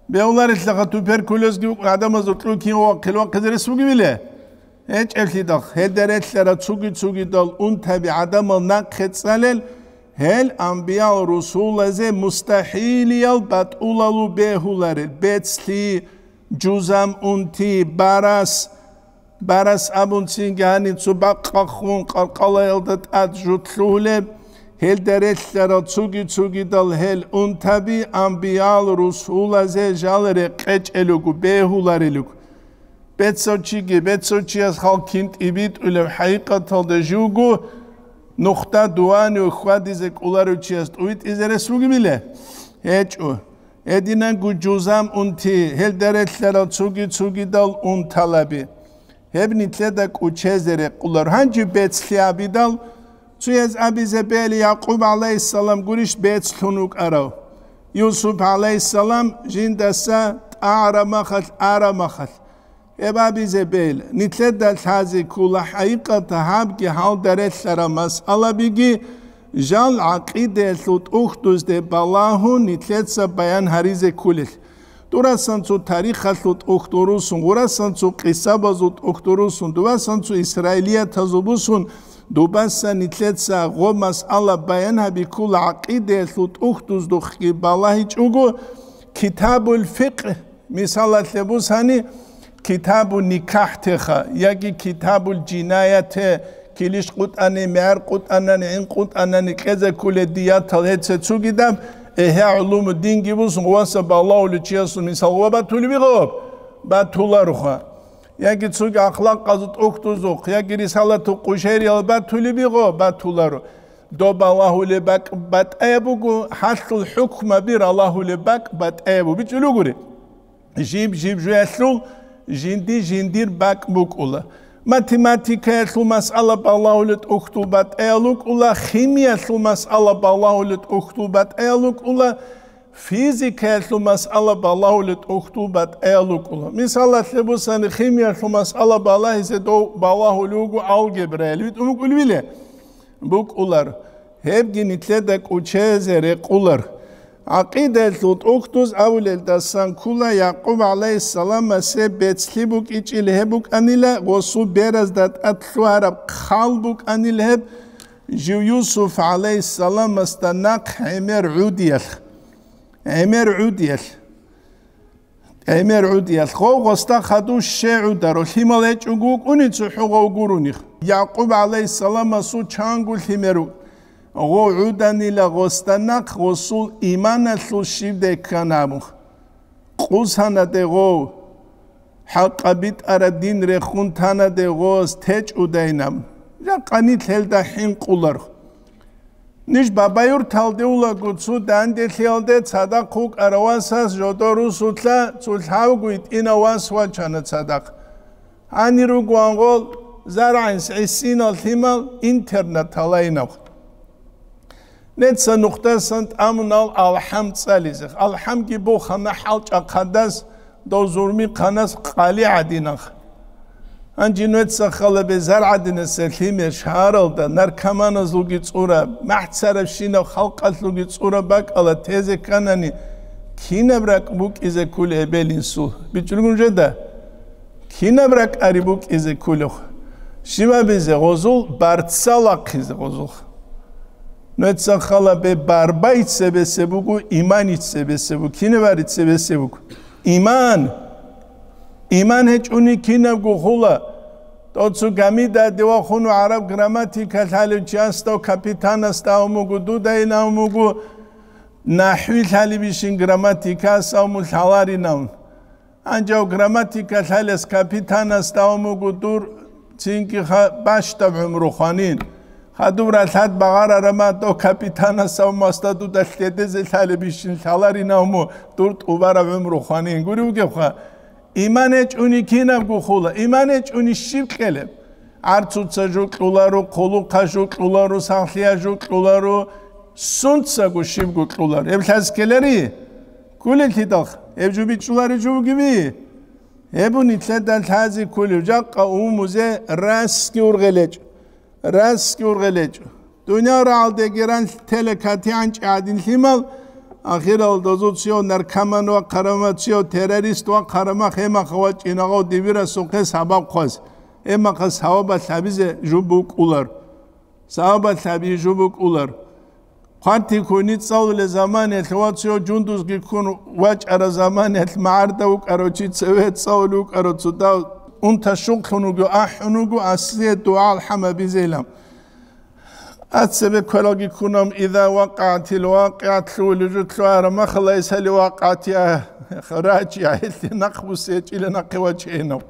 Бегьуларелъаха, туберкулезги букӀун гӀадамазул кьукин вахъил вахъизе рес бугебиле? ГьечӀеблъидал, гьелда релълъарал цуги-цугидал унтаби гӀадамал нахъе цӀалел, гьел амбиял-русулазе мустахӀилиял батӀулалу бегьуларел, бецлъи, жузам унти, барас, барас абунцинги гьаниб цо бакъахъун къаркъалаялда тӀад жутлъугьулеб, гьелда релълъарал цуги-цугидал гьел унтаби амбиял-русулазе жал рекъечӀел руго, бегьуларел руго. Бецав чиги, бецав чияс халкин тӀибитӀулев хӀакъикъаталда живго нухда дуванив хьвадизе кӀоларев чияс тӀувитӀизе рес бугебиле? ГьечӀо. Гьединанго жузам унти, гьелда релълъарал цуги-цугидал унталаби. Гьеб нилъеда кӀучезе рекъолар. Гьанже бецлъи абидал, цояз абизе бегьила, Якъуб гӀалайгьиссалам гурищ бецлъун вукӀарав? Юсуп гӀалайгьиссалам жиндаса тӀагӀараб махалъ, араб махалъ. Гьеб абизе бегьила. Нилъеда лъазе ккола хӀакъикъат гьабги гьалда релълъарал масъалабиги жал гӀакъидаялъул тӀухьдузде балагьун нилъеца баян гьаризе кколел. Дурасан цо тарихалъул тӀухьдул русун, гъурасан цо къисабазул тӀухьдул русун, дубасан цо исраилиятазул бусун, дубаса нилъеца гъо масъала баян гьаби ккола гӀакъидаялъул тӀухьдуздухъги балагьичӀого, Китабул фикъгь, мисалалъе бусани, Китабу никахӀтеха, яги Китабул жинаяте, килищ къутӀани, мегӀер къутӀанани, гӀин къутӀанани кьезе кколел диятал гьеце цугидаб, эгья гӀулуму динги бусун, гъваса балагьулев чиясул мисал гъва батулеб бугеб? Батулароха. Яги цуги ахлакъазул тӀухьдузухъ, яги Рисалату Къушайриял батулеб бугеб? Батуларо. Доб балагьулеб бакӀ батӀаяб буго, гьалъул хӀукмаби ралагьулеб бакӀ батӀаяб буго. БичӀчӀулев гури. Жиб-жиб жоялъул жинди-жиндир бакӀ букӀула. Математикаялъул масъала балагьулеб тӀухьдул батӀаял рукӀула, химиялъул масъала балагьулеб тӀухьдул батӀаял рукӀула, физикаялъул масъала балагьулеб тӀухьдул батӀаял рукӀула. Мисалалъе бусани, химиялъул масъала балагьизе дов балагьулев вуго алгебраялъ. ВитӀун букӀулебиле? БукӀулар. Гьебги нилъеда кӀучезе рекъулар. ГӀакъидаялъул тӀухьдуз абулелдасан ккола, Якъуб гӀалайгьиссаламасе бецлъи букӀичӀил гьеб букӀанила, гъосул беразда тӀад лъугьараб хъал букӀанил гьеб, жив Юсуф гӀалайгьиссаламасда нахъ гӀемер гӀудиялъ. ГӀемер гӀудиялъ. ГӀемер гӀудиялъ. Гъов гъосда хадув щай гӀударо, лъимал гьечӀого вукӀуни цохӀо гъов гурони. Якъуб гӀалайгьиссаламасул чанго лъимер ву-, гъов гӀуданила гъосда нахъ, гъосул иманалъул щибдай ккана абун. Къусанаде гъов, хӀакъаб битӀараб дин рехун танаде гъос течӀудайин абун. Жакъа нилъ гьелда хӀинкъулар. Ниж Бабаюрталде улаго цо данделъиялде цадахъ вукӀарав васас жодор русулъа цо лъабго гьитӀинав вас вачана цадахъ. Гьанир ругоан гъол заргӀинс гӀисинал лъимал интернат гьалайнаб. Неца нухдасан тӀамунал алхӀам цӀализе. АлхӀамги бухана хӀалчӀахъадас, дов зурмихъанас къали гӀадинах. Гьанже нугьеца халабе заргӀадинасе лъимер шагьаралда наркоманазулги цӀураб, махӀцарабщинаб халкъалъулги цӀураб бакӀала тезе кканани, кинаб ракӀ букӀизе ккули эбел-инсул? БичӀчӀулгун жеда? Кинаб ракӀари букӀизе ккулев? Щибабизе гъозул, барцал вахъизе гъозул. Нугьеца халабе барбай цебесе буго, имани цебесе буго, кинабари цебесе буго. Иман! Иман гьечӀуни кинабго хула. Доцу гамида дивахуну гӀараб грамматика лъалев чиясда, капитанасда авмугу, дудайин авмугу, нахӀви лъалибищин грамматикас авму лъаларин авун. Гьанжав грамматика лъалес капитанасда авмугу дур цинги ха-, бащдаб гӀумру хванин. Хадуб ралъад багъарарама дов капитанас авмасда дуда лъедезе лъалибищин лъаларин авму дур тӀубараб гӀумру хванин. Гури вугевха, иман гьечӀуни кинабго хула, иман гьечӀуни щиб кьелеб? ГӀарцуца жо кьуларо, хъулухъа жо кьуларо, сахлъия жо кьуларо, сунцаго щибго кьуларо. Гьеб лъаз ккелари? Ккулелъидалха, гьеб жо бичӀчӀулари жо бугеби? Гьеб нилъеда лъази ккулев жакъа умузе расги ургъелечӀ. Расги ургъелечӀ. Дуниял рагӀалдеги ран телекатигӀанчӀи гӀадин лъимал, ахирал дозуцияв наркоман ва хъарамацияв террорист ва хъарамах гьемаха вачӀинагъав дибирасухъе сабаб хъваз, гьемаха савабалъ гьабизе жуб букӀулар. Савабалъ гьабизе жуб букӀулар. Хъвартикуни цӀалулел заманиялъ ва цо жундузги ккун вачӀараб заманиялъ магӀарда вукӀарав чи цеве цӀалулев вукӀарав цо дав унта щугълъун вуго, ахӀун вуго, асие дугӀа-алхӀам гьабизейилан. Ацебе квералги ккунам, иза вакъагӀатил вакъигӀат лъугьулев жо лъугьараб махалайс гьали вакъагӀатиа рачӀи гьелъе нахъ буссечӀила нахъе вачейинав.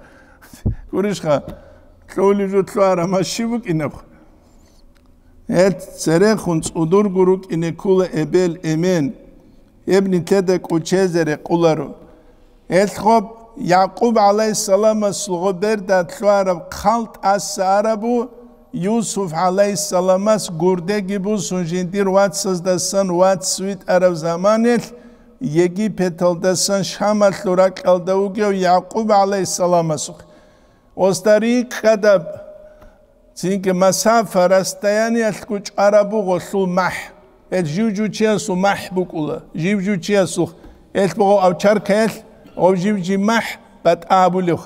Гурищха, лъугьулев жо лъугьараб ма щиб букӀинаб? Гьел церехун цӀудурго рукӀине ккула эбел-эмен, гьеб нилъеда кӀучезе рекъоларо. Гьел гъоб Якъуб гӀалайгьиссаламасул гъоб берда лъугьараб хъал тӀаса арабу, Юсуф гӀалайгьиссаламас гурдеги бусун жиндир вацаздасан вац витӀараб заманалъ, Египеталдасан Шамалъул ракьалда вугев Якъуб гӀалайгьиссаламасухъ. Гъосда рикӀкӀадаб Цинги масафа, расстояниялъго чӀвараб буго гъолъул махӀ. Гьел жив-жив чиясул махӀ букӀула, жив-жив чиясул. Гьелъ буго авчаркаялъ гъов жив-жив махӀ батӀа гьабулев.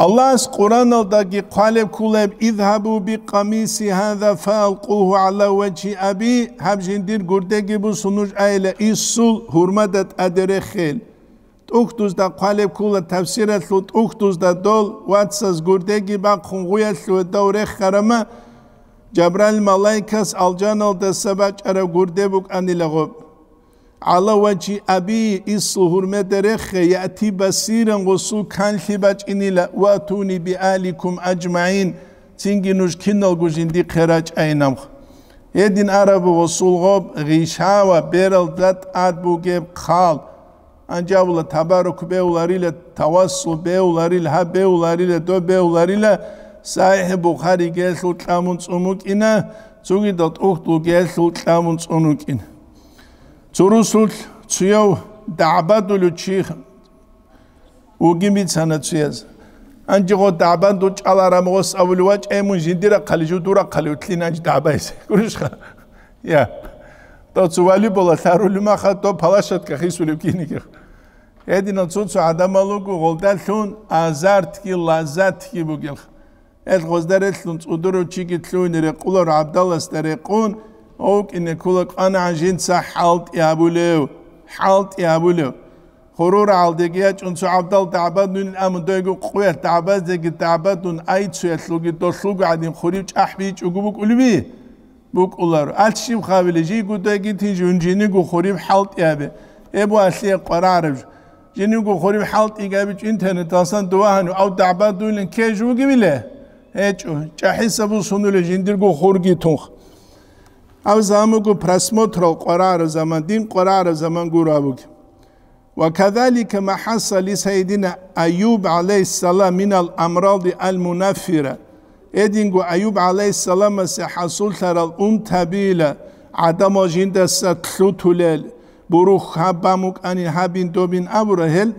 Аллагьас Къураналдаги хъвалеб кколеб: «Изгьабу бикъамиси гьаза фаалкъугьу гӀала важгьи аби», гьаб жиндир гурдеги бусун нуж айила инсул гьурмада тӀаде рехел. ТӀухьдузда хъвалеб ккула, тафсиралъул тӀухьдузда дол вацаз гурдеги бахъун гъуялъуве дов рехарама, Жабраил малайкас алжаналдаса бачӀараб гурде букӀанила гъоб. «Гьала вачи аби», инсул гьурмеда рехе, «яти басиран», гъосул канлъи бачӀинила, «ватуни биаликум аджмаин», цинги нуж киналго жиндихъе рачӀайинамха. Гьедин арабу гъосул гъоб гъишава бералда тӀад бугеб хъал. Анжабула табарук беуларила, тавассул беуларила, гьаб беуларила, доб беуларила, СахӀихӀ Бухаригелъул кьамун цӀун вукӀина, цугидал тӀухьдулгелъул кьамун цӀун вукӀина. Цо русулъ цуяв дагӀбадулев чи вугин бицана цуяз. Анжи гъо дагӀбадул чӀаларам гъос абулев вачӀай мун жиндирахъали жудурахъали утлин анжи дагӀбайзе. Гурищха? Я. Дов цо вали бола лъарули маха, дов палашатка хисулев кинигех. Гьединал цо-цо гӀадамал руго гъолдалъун азартги лаззатги бугелха. Гьел гъозда релълъун цӀудурав чиги лъугьине рекъулар гӀабдаласда рекъун, вукӀине ккула кӀванагӀан жинца хӀалтӀи гьабулев, хӀалтӀи гьабулев. Хурурагьалдеги ячӀун цо гӀабдал дагӀбадунин, амма дойго къуялъ дагӀбаздеги дагӀбадун, айцуялъулги долъулго гӀадин хурив чӀахӀбичӀого букӀулеби? БукӀуларо. Алъ щиб хабиле, жийго дойги тин жун жиниго хурив хӀалтӀи гьабе. Эбу алъие къварагӀараб жо. Жиниго хурив хӀалтӀи гьабичӀо интернеталсан дувагьанив, ав дагӀбадуйлин ккей жо вугевиле? ГьечӀо, чӀахӀиса бусунулев жиндирго хурги тунх. Гьав заман буго просмотрал къварагӀараб заман, дин къварагӀараб заман гуро гьаб буго. Ва кадалика ма хӀасса ли сайидина Аюб гӀалайгьиссалам минал амради ал-мунаффира. Гьединго Аюб гӀалайгьиссаламасе хӀасуллъарал унтабила гӀадамал жиндаса лъутулел, бурух гьаб бан букӀанин, гьабин добин абура гьел,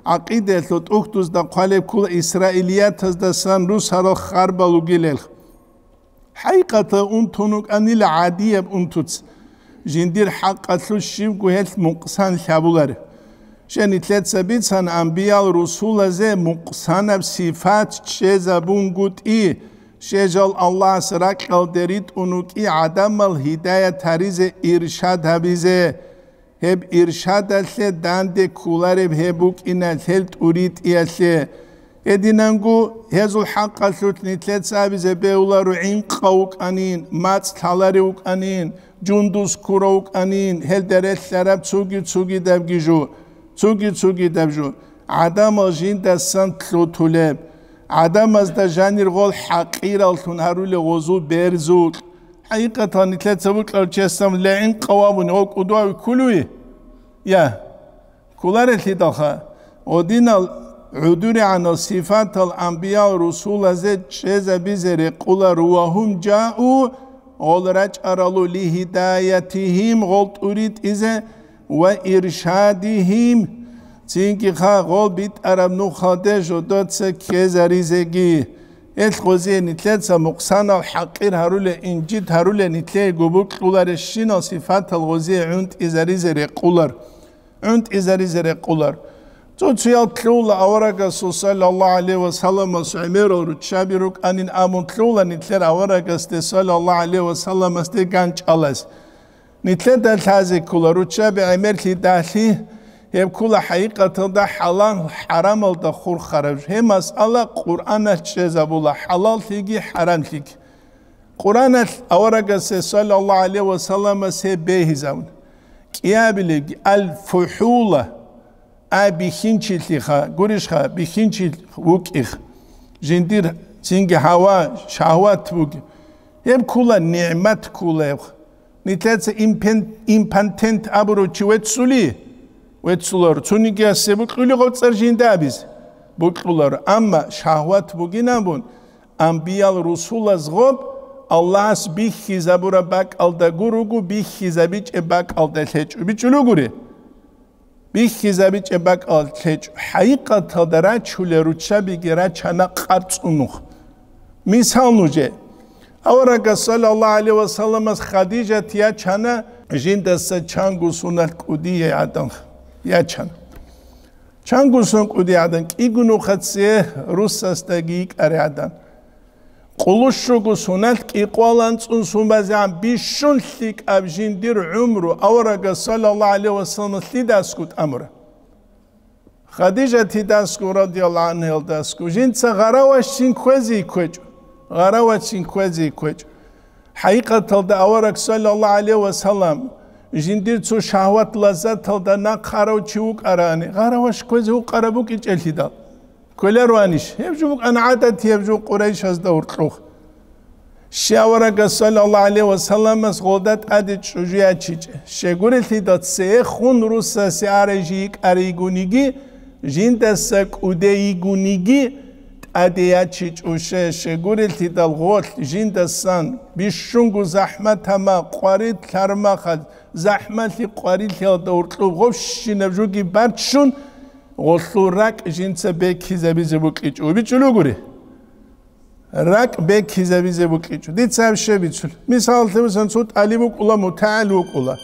гӀакъидаялъул тӀухьдузда хъвалеб ккула исраилиятаздасан русарал харбал ругилел. ХӀакъикъаталда унтун вукӀанила гӀадияб унтуц, жиндир хӀакъалъулъ щибго гьелъ мукъсан лъабуларе. Щай нилъеца бицана, амбиял-русулазе мукъсанаб сифат чӀезабунгутӀи, щай жал Аллагьас ракьалде ритӀун вукӀи гӀадамал гьидаят гьаризе, иршад гьабизе. Гьеб иршадалъе данде кколареб гьеб букӀина, гьел тӀуритӀиялъе. Гьединанго гьезул хӀакъалъулъ нилъеца абизе бегьуларо гӀинкъав вукӀанин, мацӀ лъаларев вукӀанин, жундуз ккурав вукӀанин, гьелда релълъараб цуги-цугидабги жо, цуги-цугидаб жо. ГӀадамал жиндасан лъутулеб, гӀадамазда жанир гъол хӀакъираллъун гьарулел гъозул берзукь. ХӀакъикъаталда нилъеца бокьарав чиясда гӀинкъав абуни, гъо кӀудияв кколев? Я, кколарелъидалха, гъодинал гӀодорегӀанал сифатал амбиял-русулазе чӀезабизе рекъоларо, ва гьум жау, гъол рачӀарало, ли гьидаятигьим, гъол тӀуритӀизе, ва иршадигьим, цинги-ха гъол битӀараб нухалде жодоца ккезаризеги. Гьелъ гъозие нилъеца мукъсанал хӀакъир гьарулел, инжит гьарулел нилъее гьеб бокьуларебщинал сифатал гъозие гӀунтӀизаризе рекъолар. ГӀунтӀизаризе рекъолар. Цо-цоял лъугьула аварагасул саллаллагьу гӀалайгьи ва салламас гӀемерал руччаби рукӀанин абун лъугьула нилъер аварагасде саллаллагьу гӀалайгьи ва салламасде ганчӀалас. Нилъеда лъазе ккола, руччаби гӀемерлъидалъи, гьеб ккола хӀакъикъаталда хӀалал-хӀарамалда хурхараб жо. Гьеб масъала Къуръаналъ чӀезабула, хӀалаллъиги хӀарамлъиги. Къуръаналъ аварагасе, саллаллагьу гӀалайгьи ва салламас, гьеб бегьизабун. КӀиабилебги, ал-фухӀула, а, бихьинчилъиха, гурищха, бихьинчилъ вукӀих, жиндир цинги гьава, шагьват буги. Гьеб ккола, нигӀмат ккола гьеб. Нилъеца импен-, импотент абурав чи веццули? Веццуларо. Цонигиясе бокьулеб гъоб цӀар жинда абизе? Бокьуларо. Амма шагьват бугин абун, амбиял-русулаз гъоб Аллагьас бихьизабураб бакӀалда гуро, бихьизабичӀеб бакӀалда лъечӀо. БичӀчӀулев гури? БихьизабичӀеб бакӀалда лъечӀо. ХӀакъикъаталда рачулел руччабиги рачана къарцӀун нух. Мисал нужее. Аварагас, саллаллагьу гӀалайгьи ва салламас, Хадижат ячана жиндаса чанго соналъ кӀудияй гӀадан. Ячана. Чанго сон кӀудияй гӀадан, кӀиго нухалъ цее русасдаги йикӀарай гӀадан. Къоло щуго соналъ кӀикъоялда анцӀго сон базегӀан бищун лъикӀаб жиндир гӀумру аварагас, саллаллагьу гӀалайгьи ва салламас, лъидасго тӀамура? Хадижатидасго, радияллагьу гӀангьаялдасго, жинца гъаравашцин кквезе кквечӀо. Гъаравашцин кквезе кквечӀо. ХӀакъикъаталда авараг, саллаллагьу гӀалайгьи ва саллам, жиндир цо шагьват-лаззаталда нахъарав чи вукӀарани, гъараваш кквезе вукӀараб букӀинчӀелъидал. Кколароанищ? Гьеб жо букӀана гӀадат, гьеб жо Къурайшазда гьоркьох. Щай аварагас, саллаллагьу гӀалайгьи ва салламас, гъолда тӀаде чӀужу ячичӀеб? Щайгурелъидал цехун русасе арай жи йикӀарай йигониги, жиндаса кӀудей йигониги тӀаде ячичӀо. Щай, щайгурелъидал гъолъ жиндасан бищунго захӀмат гьама, къварилъ гьармахъал, захӀмалъи къварилъиялда гьоркьоб гъобщинаб жоги баччун, гъолъул ракӀ жинца бекизабизе букӀичӀо. БичӀчӀулев гури? РакӀ бекизабизе букӀичӀо. Дица гьаб щай бицулеб? Мисалалъе, мисалан, цо тӀалиб вукӀула, мутагӀил вукӀула.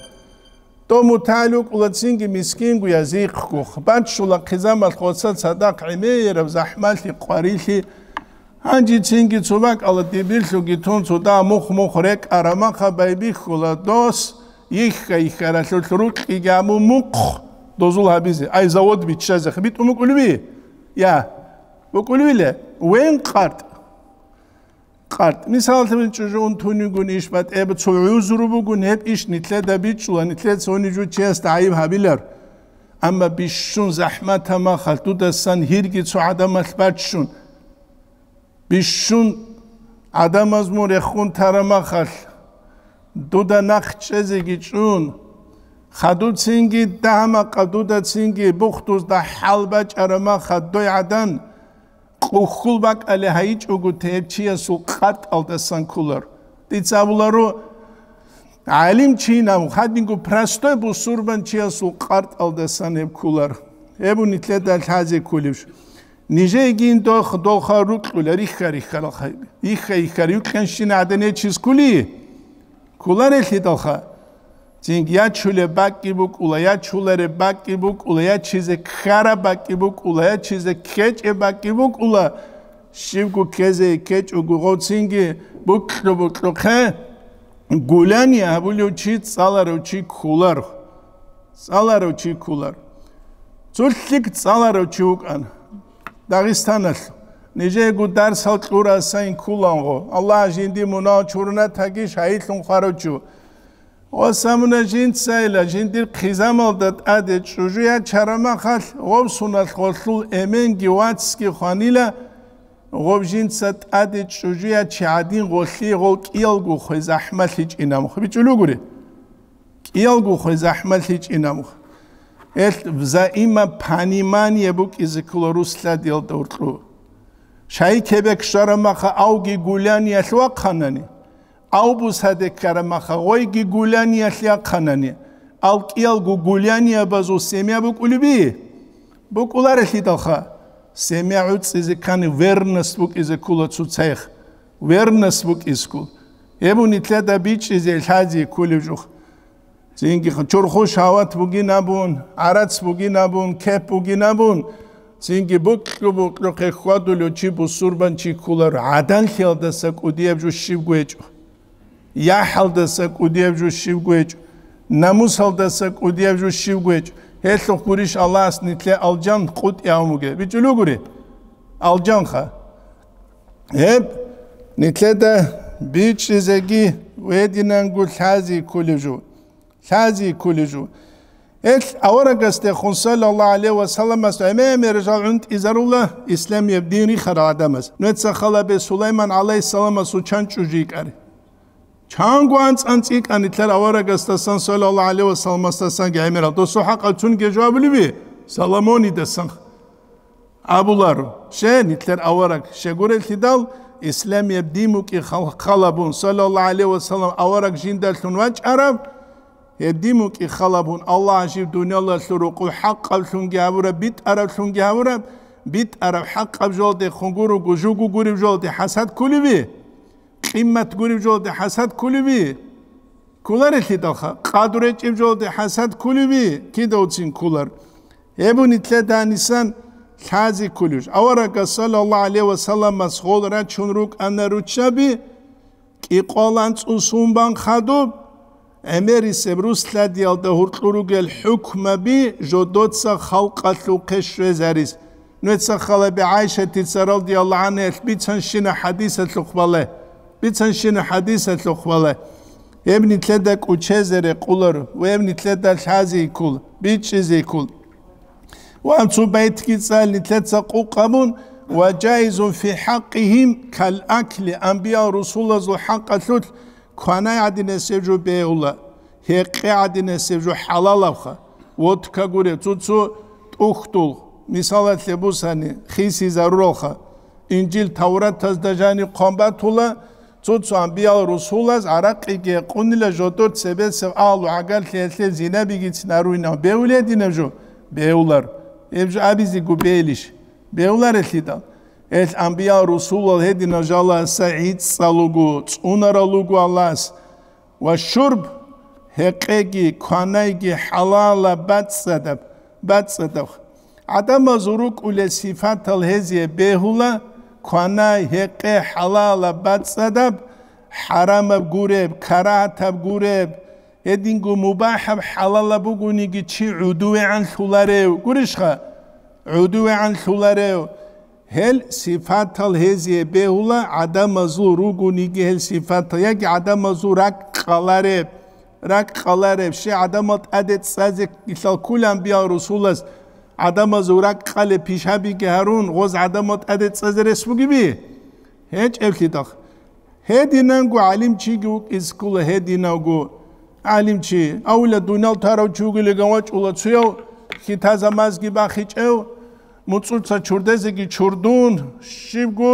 Дов мутагӀил вукӀула, цинги мискингоян, зихъго. Баччула хъизамалъ гъоца цадахъ гӀемераб захӀмалъи, къварилъи. Гьанже цинги цо бакӀалда дибирлъуги тун, цо дагь мухъ-мухъ рекӀараб мехалъ байбихьула дос, йихьа-йихьаралъулъ рукьиги гьабун мухъ дозул гьабизе, ай, завод биччазе. БитӀун букӀулеби? Я. БукӀулевила? Вен къартӀ. КъартӀ. Мисалалъе, чӀужу унтун йигун иш батӀеб, цо гӀузру бугун, гьеб иш нилъеда бичӀчӀула, нилъеца гьанив жо чиясда гӀайиб гьабилар. Амма бищун захӀмат гьамахалъ дудасан гьирги цо гӀадамалъ баччун, бищун ГӀадамаз мун рехун тарамахалъ, дуда нахъ чӀезеги чӀун, хадуцинги дагьа-макъа дудацинги бухдузда хӀал бачӀарамаха дой гӀадан, къухьул бакӀалде гьайичӀого гьеб чиясул къатӀалдасан кколар. Дица абуларо, гӀалим чинав, хадинго простой бусурбан чиясул къатӀалдасан гьеб кколар. Гьеб нилъеда лъазе кколеб жо. Нижеегин дох-, долха рукьула, рихха-риххаралха, рихха-риххар юкьанщина гӀадин гьечис ккули? Кколарелъидалха. Цинги ячулеб бакӀги букӀула, ячулареб бакӀги букӀула, ячизе ккараб бакӀги букӀула, ячизе ккечӀеб бакӀги букӀула, щибго ккезе ккечӀого гъоцинги букьу-букьухъе, гуляни абулев чи цӀаларев чи кколар. ЦӀаларев чи кколар. Цо лъикӀ цӀаларев чи вукӀана Дагъистаналъ. Нижеего дарсал кьурасайин ккуланго. Аллагь жинди мунагь чуруна таги шагьидлъун хварав чи. Ва самуна жинцайила, жиндир хъизамалда тӀаде чӀужу ячарамахалъ, гъов суналъ гъолъул эменги вацги хванила, гъов жинца тӀаде чӀужу ячи гӀадин гъолъие гъол кӀиялго хвезахӀмалъичӀинамухъ. БичӀулугури? КӀиялго хвезахӀмалъичӀинамухъ. Гьелъ взаимопонимание букӀизе ккола рус лъадиялда гьоркьу. Шайи кебек щварамаха авги гуляниялъ вахъанани, авбус гьаде ккарамаха гъойги гуляниялъ яхъанани, ал кӀиялго гуляниябазул семья букӀулеби? БукӀуларелъидалха, семья гӀуцӀизе ккани верность букӀизе ккола цоцайихъ. Верность букӀискул. Гьеб нилъеда бичӀчӀизе лъази кколев жух. Цинги чорхо шагьват бугин абун, гӀарац бугин абун, кеп бугин абун, цинги букьу-букьухъе хьвадулев чи бусурбан чи кколар, гӀаданлъиялдаса кӀудияб жо щибго гьечӀо. ЯхӀалдаса кӀудияб жо щибго гьечӀо. Намусалдаса кӀудияб жо щибго гьечӀо. Гьелъухъ гурищ Аллагьас нилъе алжан къутӀи гьавмуге. БичӀулугури? Алжанха. Гьеб нилъеда бичӀчӀизеги гьединанго лъази кколев жо. Лъази кколев жо. Гьелъ аварагасдехун, саллаллагьу гӀалайгьи ва салламас, гӀемер-гӀемер жал гӀунтӀизарула исламияб дин рихарал гӀадамаз. Нуца халабе Сулайман гӀалайгьиссаламасул чан чӀужу йикӀари. Чанго анцӀ-анцӀ йикӀан нилъер аварагасдасан, саллаллагьу гӀалайгьи ва салламасдасанги гӀемерал. Досул хӀакъалъунги жавабулеби? Соломонидасан. Абуларо, щай нилъер авараг щегурелъидал, исламияб дин букӀин хал-, халабун, саллаллагьу гӀалайгьи ва саллам, авараг жиндалъун вачӀараб, гьеб дин букӀин халабун, Аллагь жив дуниялалъул рукъу хӀакъаблъунги гьабураб, битӀараблъунги гьабураб, битӀараб хӀакъаб жолдехун гуруго, жуго гуреб жолде хӀасад кколеби? Къимат гуреб жолде хӀасад кколеби? Кколарелъидалха, къадру гьечӀеб жолде хӀасад кколеби? Кидавцин кколар. Гьеб нилъеда гьанисан лъази кколев жо. Аварагас, саллаллагьу гӀалайгьи ва салламас, гъол рачун рукӀана руччаби, кӀикъоялда анцӀу сумбан хадуб, гӀемерисеб рус лъадиялда гьоркьор ругел хӀукмаби жодоца халкъалъухъе щвезарис. Нуца халаби ГӀайшатица радияллагьу гӀангьаялъ бицанщина хӀадисалъухъ балай. Бицанщина хӀадисалъухъ балай. Гьеб нилъеда кӀучезе рекъоларо ва гьеб нилъеда лъази ккола, бичӀчӀизе ккола. Ва цо байтги цӀал нилъеца къукъ гьабун: «Ва жаизун фи хӀакъигьим кал акли», амбиял-русулазул хӀакъалъулъ кванай гӀадинасеб жо бегьула, гьекъей гӀадинасеб жо хӀалалабха, водка гуреб, цо-цо тӀухьдул, мисалалъе бусани, хисизаруралха, Инжил Тавратазда жаниб хъван батула, цо-цо амбиял-русулаз гӀаракъиги гьекъунила, жодор цебесеб агьлу гӀагарлъиялъе зинабигицин гьаруйнав бегьулей гьединаб жо? Бегьулар. Гьеб жо абизего бегьилищ? Бегьуларелъидал. Гьелъ амбиял-русулал гьединал жаласа гӀицӀал руго, цӀунарал руго Аллагьас. Ва шурб, гьекъеги кванайги хӀалалаб бацӀцӀадаб, бацӀцӀадаб. ГӀадамазул рукӀулел сифатал гьезие бегьула: кванай, гьекъей хӀалалаб бацӀцӀадаб, хӀарамаб гуреб, карагьатаб гуреб, гьединго мубахӀаб хӀалалаб бугониги чи гӀодовегӀан лъуларев, гурищха? ГӀодовегӀан лъуларев. Гьел сифатал гьезие бегьула, гӀадамазул ругониги гьел сифатал, яги гӀадамазул ракӀ къалареб, ракӀ къалареб, щай гӀадамал тӀаде цӀазе кколел амбиял-русулаз гӀадамазул ракӀ къалеб пишабиги гьарун, гъоз гӀадамал тӀаде цӀазе рес бугеби? ГьечӀеблъидал. Гьединанго гӀалимчиги вукӀизе ккола, гьединавго гӀалимчи, авла дуниял тарав чи вугилиган вачӀула цуяв, хьитазамазги бахичӀев, муцӀуца чурдезеги чурдун, щибго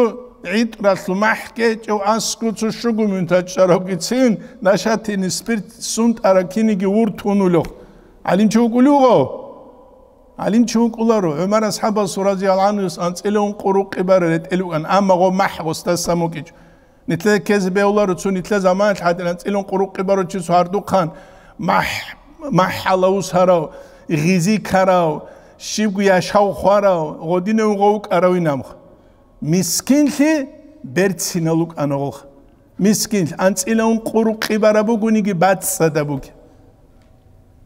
гӀитӀралъу махӀ кӀечӀев аскӀо цо щуго минут чӀаравгицин, нашатине спирт сунтӀараб киниги вуртун улев гӀалимчи вукӀулев гъов? ГӀалимчи вукӀуларо, ГӀумар асхӀабасул разияллагьу гӀанхуяс анцӀила ункъо рукъи бараб ретӀел букӀан, амма гъо махӀ гъосдасан букӀичӀо. Нилъеда ккезе бегьуларо, цо нилъер заманалъ гьадин анцӀила ункъо рукъи барав чи цо гьардухъан махӀ-, махӀалав ус гьарав, гъизи ккарав, щибго яшав хварав, гъодинав гъов вукӀаравин амха. Мискинлъи берцинал вукӀана гъолха. Мискинлъи анцӀила ункъо рукъи бараб бугониги бацӀцӀадаб бугеб.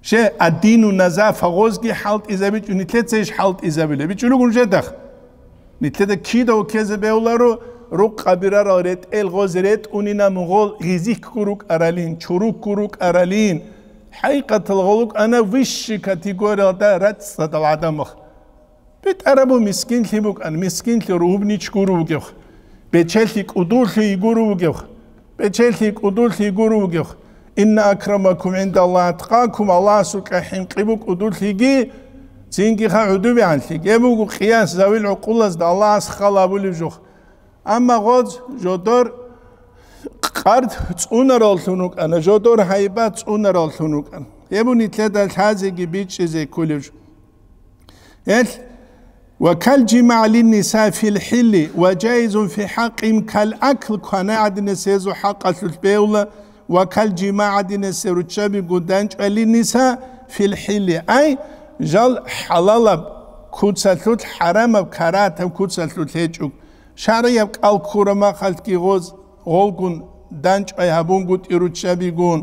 Щай, аддину назафа, гъозги хӀалтӀизабичӀо, нилъеца иш хӀалтӀизабила. БичӀулугун жедах. Нилъеда кида вуккезе бегьуларо, рукъаби рарал ретӀел гъоз ретӀунина мугъол гъизихьго рукӀаралин, чурукку рукӀаралин. ХӀакъикъатал гъолукӀана высший категориялда рацӀцӀадал гӀадамах. БетӀараб мискинлъи букӀан, мискинлъи ругьубнич гуру вугевх. Бечелъи кӀудулъи гуру вугевх. Бечелъи кӀудулъи гуру вугевх. Инна акрамакум гӀиндаллагь аткъакум, Аллагьасукьа хӀинкъи бу кӀудулъиги, цинги ха гӀудубигӀанлъи. Гьеб буго къияс завил гӀукъулазда Аллагьас хал абулев жух. Амма гъоз жодор къард цӀунараллъун вукӀана, жодор гьайбат цӀунараллъун вукӀана. Гьеб нилъеда лъазеги бичӀчӀизе кколев жо. Гьел, ва кал жимагӀ линниса фил хӀилли, ва жаизун фи хӀакъим кал акл, квана гӀадинас гьезул хӀакъалъулъ бегьула, ва кал жимагӀ гӀадинас руччабигун данчӀвалинниса фил хӀилли, ай, жал хӀалалаб куцалъулъ, хӀарамаб карагьатаб куцалъулъ гьечӀо. ШаргӀияб кӀал ккураб махалъги гъоз, гъолгун данчӀвай гьабунгутӀи руччабигун,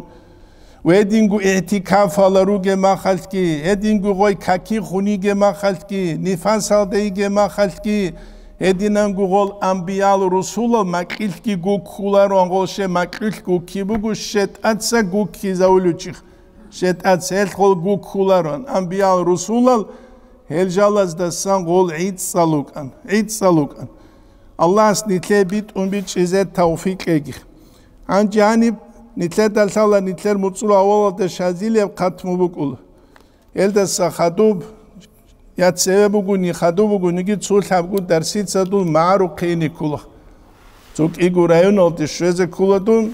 ва гьединго игӀтикафала ругеб махалъги, гьединго гъой каки хуниге махалъги, нифасалда йиге махалъги, гьединанго гъол амбиял русулал макьилъги гуккулароан, гъол ще макьилъ гукки буго, щетӀаца гуккизавулев чих. ШетӀаца гьелъ гъол гуккулароан, амбиял русулал гьел жалаздасан гъол гӀицӀцӀал вукӀан, гӀицӀцӀал вукӀан. Аллагьас нилъее битӀун бичӀчӀизе тавфикъ кьеги. Гьанже гьаниб нилъеда лъала нилъер муцӀул авалалда Шазилияб хатму букӀула. Гьелдаса хадуб, я цеве бугони, хадуб бугониги, цо лъабго дарсица дун магӀарухъе ине ккола. Цо кӀиго районалде щвезе ккола дун,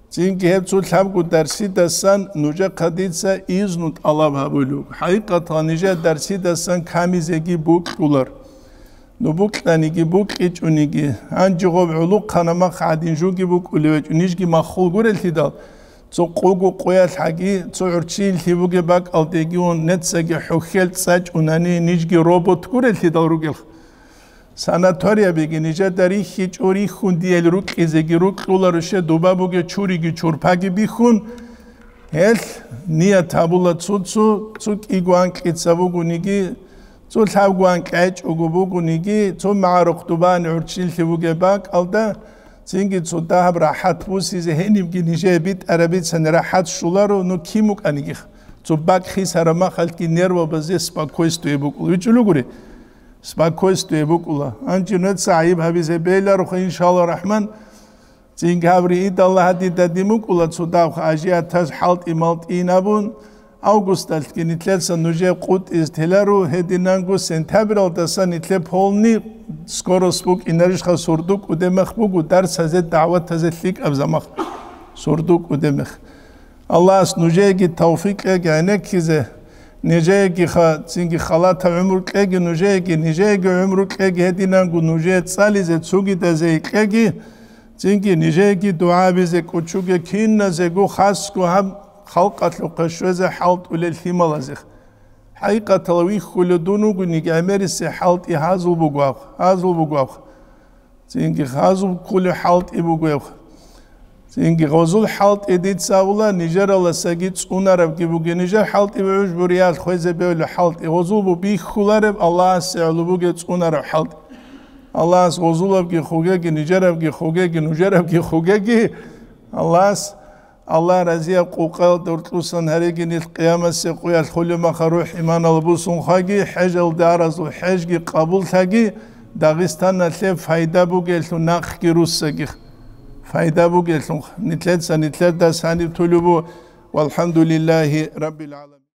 цинги гьеб цо лъабго дарсидасан нужехъа дица изну тӀалаб гьабулеб буго. ХӀакъикъаталда нижер дарсидасан камизеги букьулар. Ну букьаниги, букьичӀониги, гьанже гъоб гӀолохъанаб мах гӀадин жуги букӀулев гьечӀо, нижги маххул гурелъидал, цо къого къоялъ гьаги, цо гӀурччиялъе бугеб бакӀалдеги ун, нецаги хӀухьел цӀачӀунани, нижги робот гурелъидал ругелха. Санаториябиги нижеда рихьичӀо, рихьун диел рукьизеги рукьуларо, ще дуба бугеб чуриги чурпаги бихьун, гьелъ ният гьабула цо-цо, цо кӀиго анкьица бугониги, цо лъабго анкьи гьечӀого бугониги, цо магӀарухъ дубани гӀурччилъи бугеб бакӀалда, цинги цо дагьаб рахӀат бусизе гьенибги нижее битӀараб бицани рахӀат щоларо, ну кин букӀанигиха. Цо бакӀ хисараб махалъги нервабазе спокойствие букӀула. ВичӀулев гури? Спокойствие букӀула. Гьанже нуца гӀайиб гьабизе бегьилароха, иншалла рахман. Цинги гьаб риидалла гьадин дадин букӀула цо дагьаб ажиятаз хӀалтӀи-малтӀийин абун, августалъги нилъеца нужее къутӀизе теларо, гьединанго сентябралдаса нилъе полный скорость букӀинарищха, сурду кӀудемах буго дарсазе, дагӀватазе лъикӀаб замах. Сурду кӀудемах. Аллагьас нужееги тавфикъ кьеги гӀенеккизе, нижееги ха-, цинги халатаб гӀумру кьеги нужееги, нижееги гӀумру кьеги гьединанго нужее цӀализе, цугидазе кьеги, цинги нижееги дугӀабизе кӀучуге киназего хасго гьаб халкъалъухъе щвезе хӀалтӀулел лъималазе. ХӀакъикъаталда вихьулев дун вугониги гӀемерисе хӀалтӀи гьазул бугоха, гьазул бугоха. Цинги гьазул кколев хӀалтӀи бугев. Цинги гъозул хӀалтӀи дица абула, нижераласаги цӀунарабги бугеб, нижер хӀалтӀи бугӀуж буриялъ хвезе бевлев хӀалтӀи. Гъозул бу бихьулареб Аллагьасе гӀоло бугеб цӀунараб хӀалтӀи. Аллагьас гъозулабги хугеги, нижерабги хугеги, нужерабги хугеги. Аллагьас Аллагь разияб къукъаялда уркьусан гьареги нилъ къиямасеб къоялъ хулеб маха рухӀ-иманалда бусун хваги, хӀежалде аразул хӀежги къабуллъаги, Дагъистаналъе пайда бугелъул нахъги руссагих. пайда бугелъул, нилъеца нилъердас гьаниб тулеб буго. Валхамдулиллагьи раббил гӀаламин.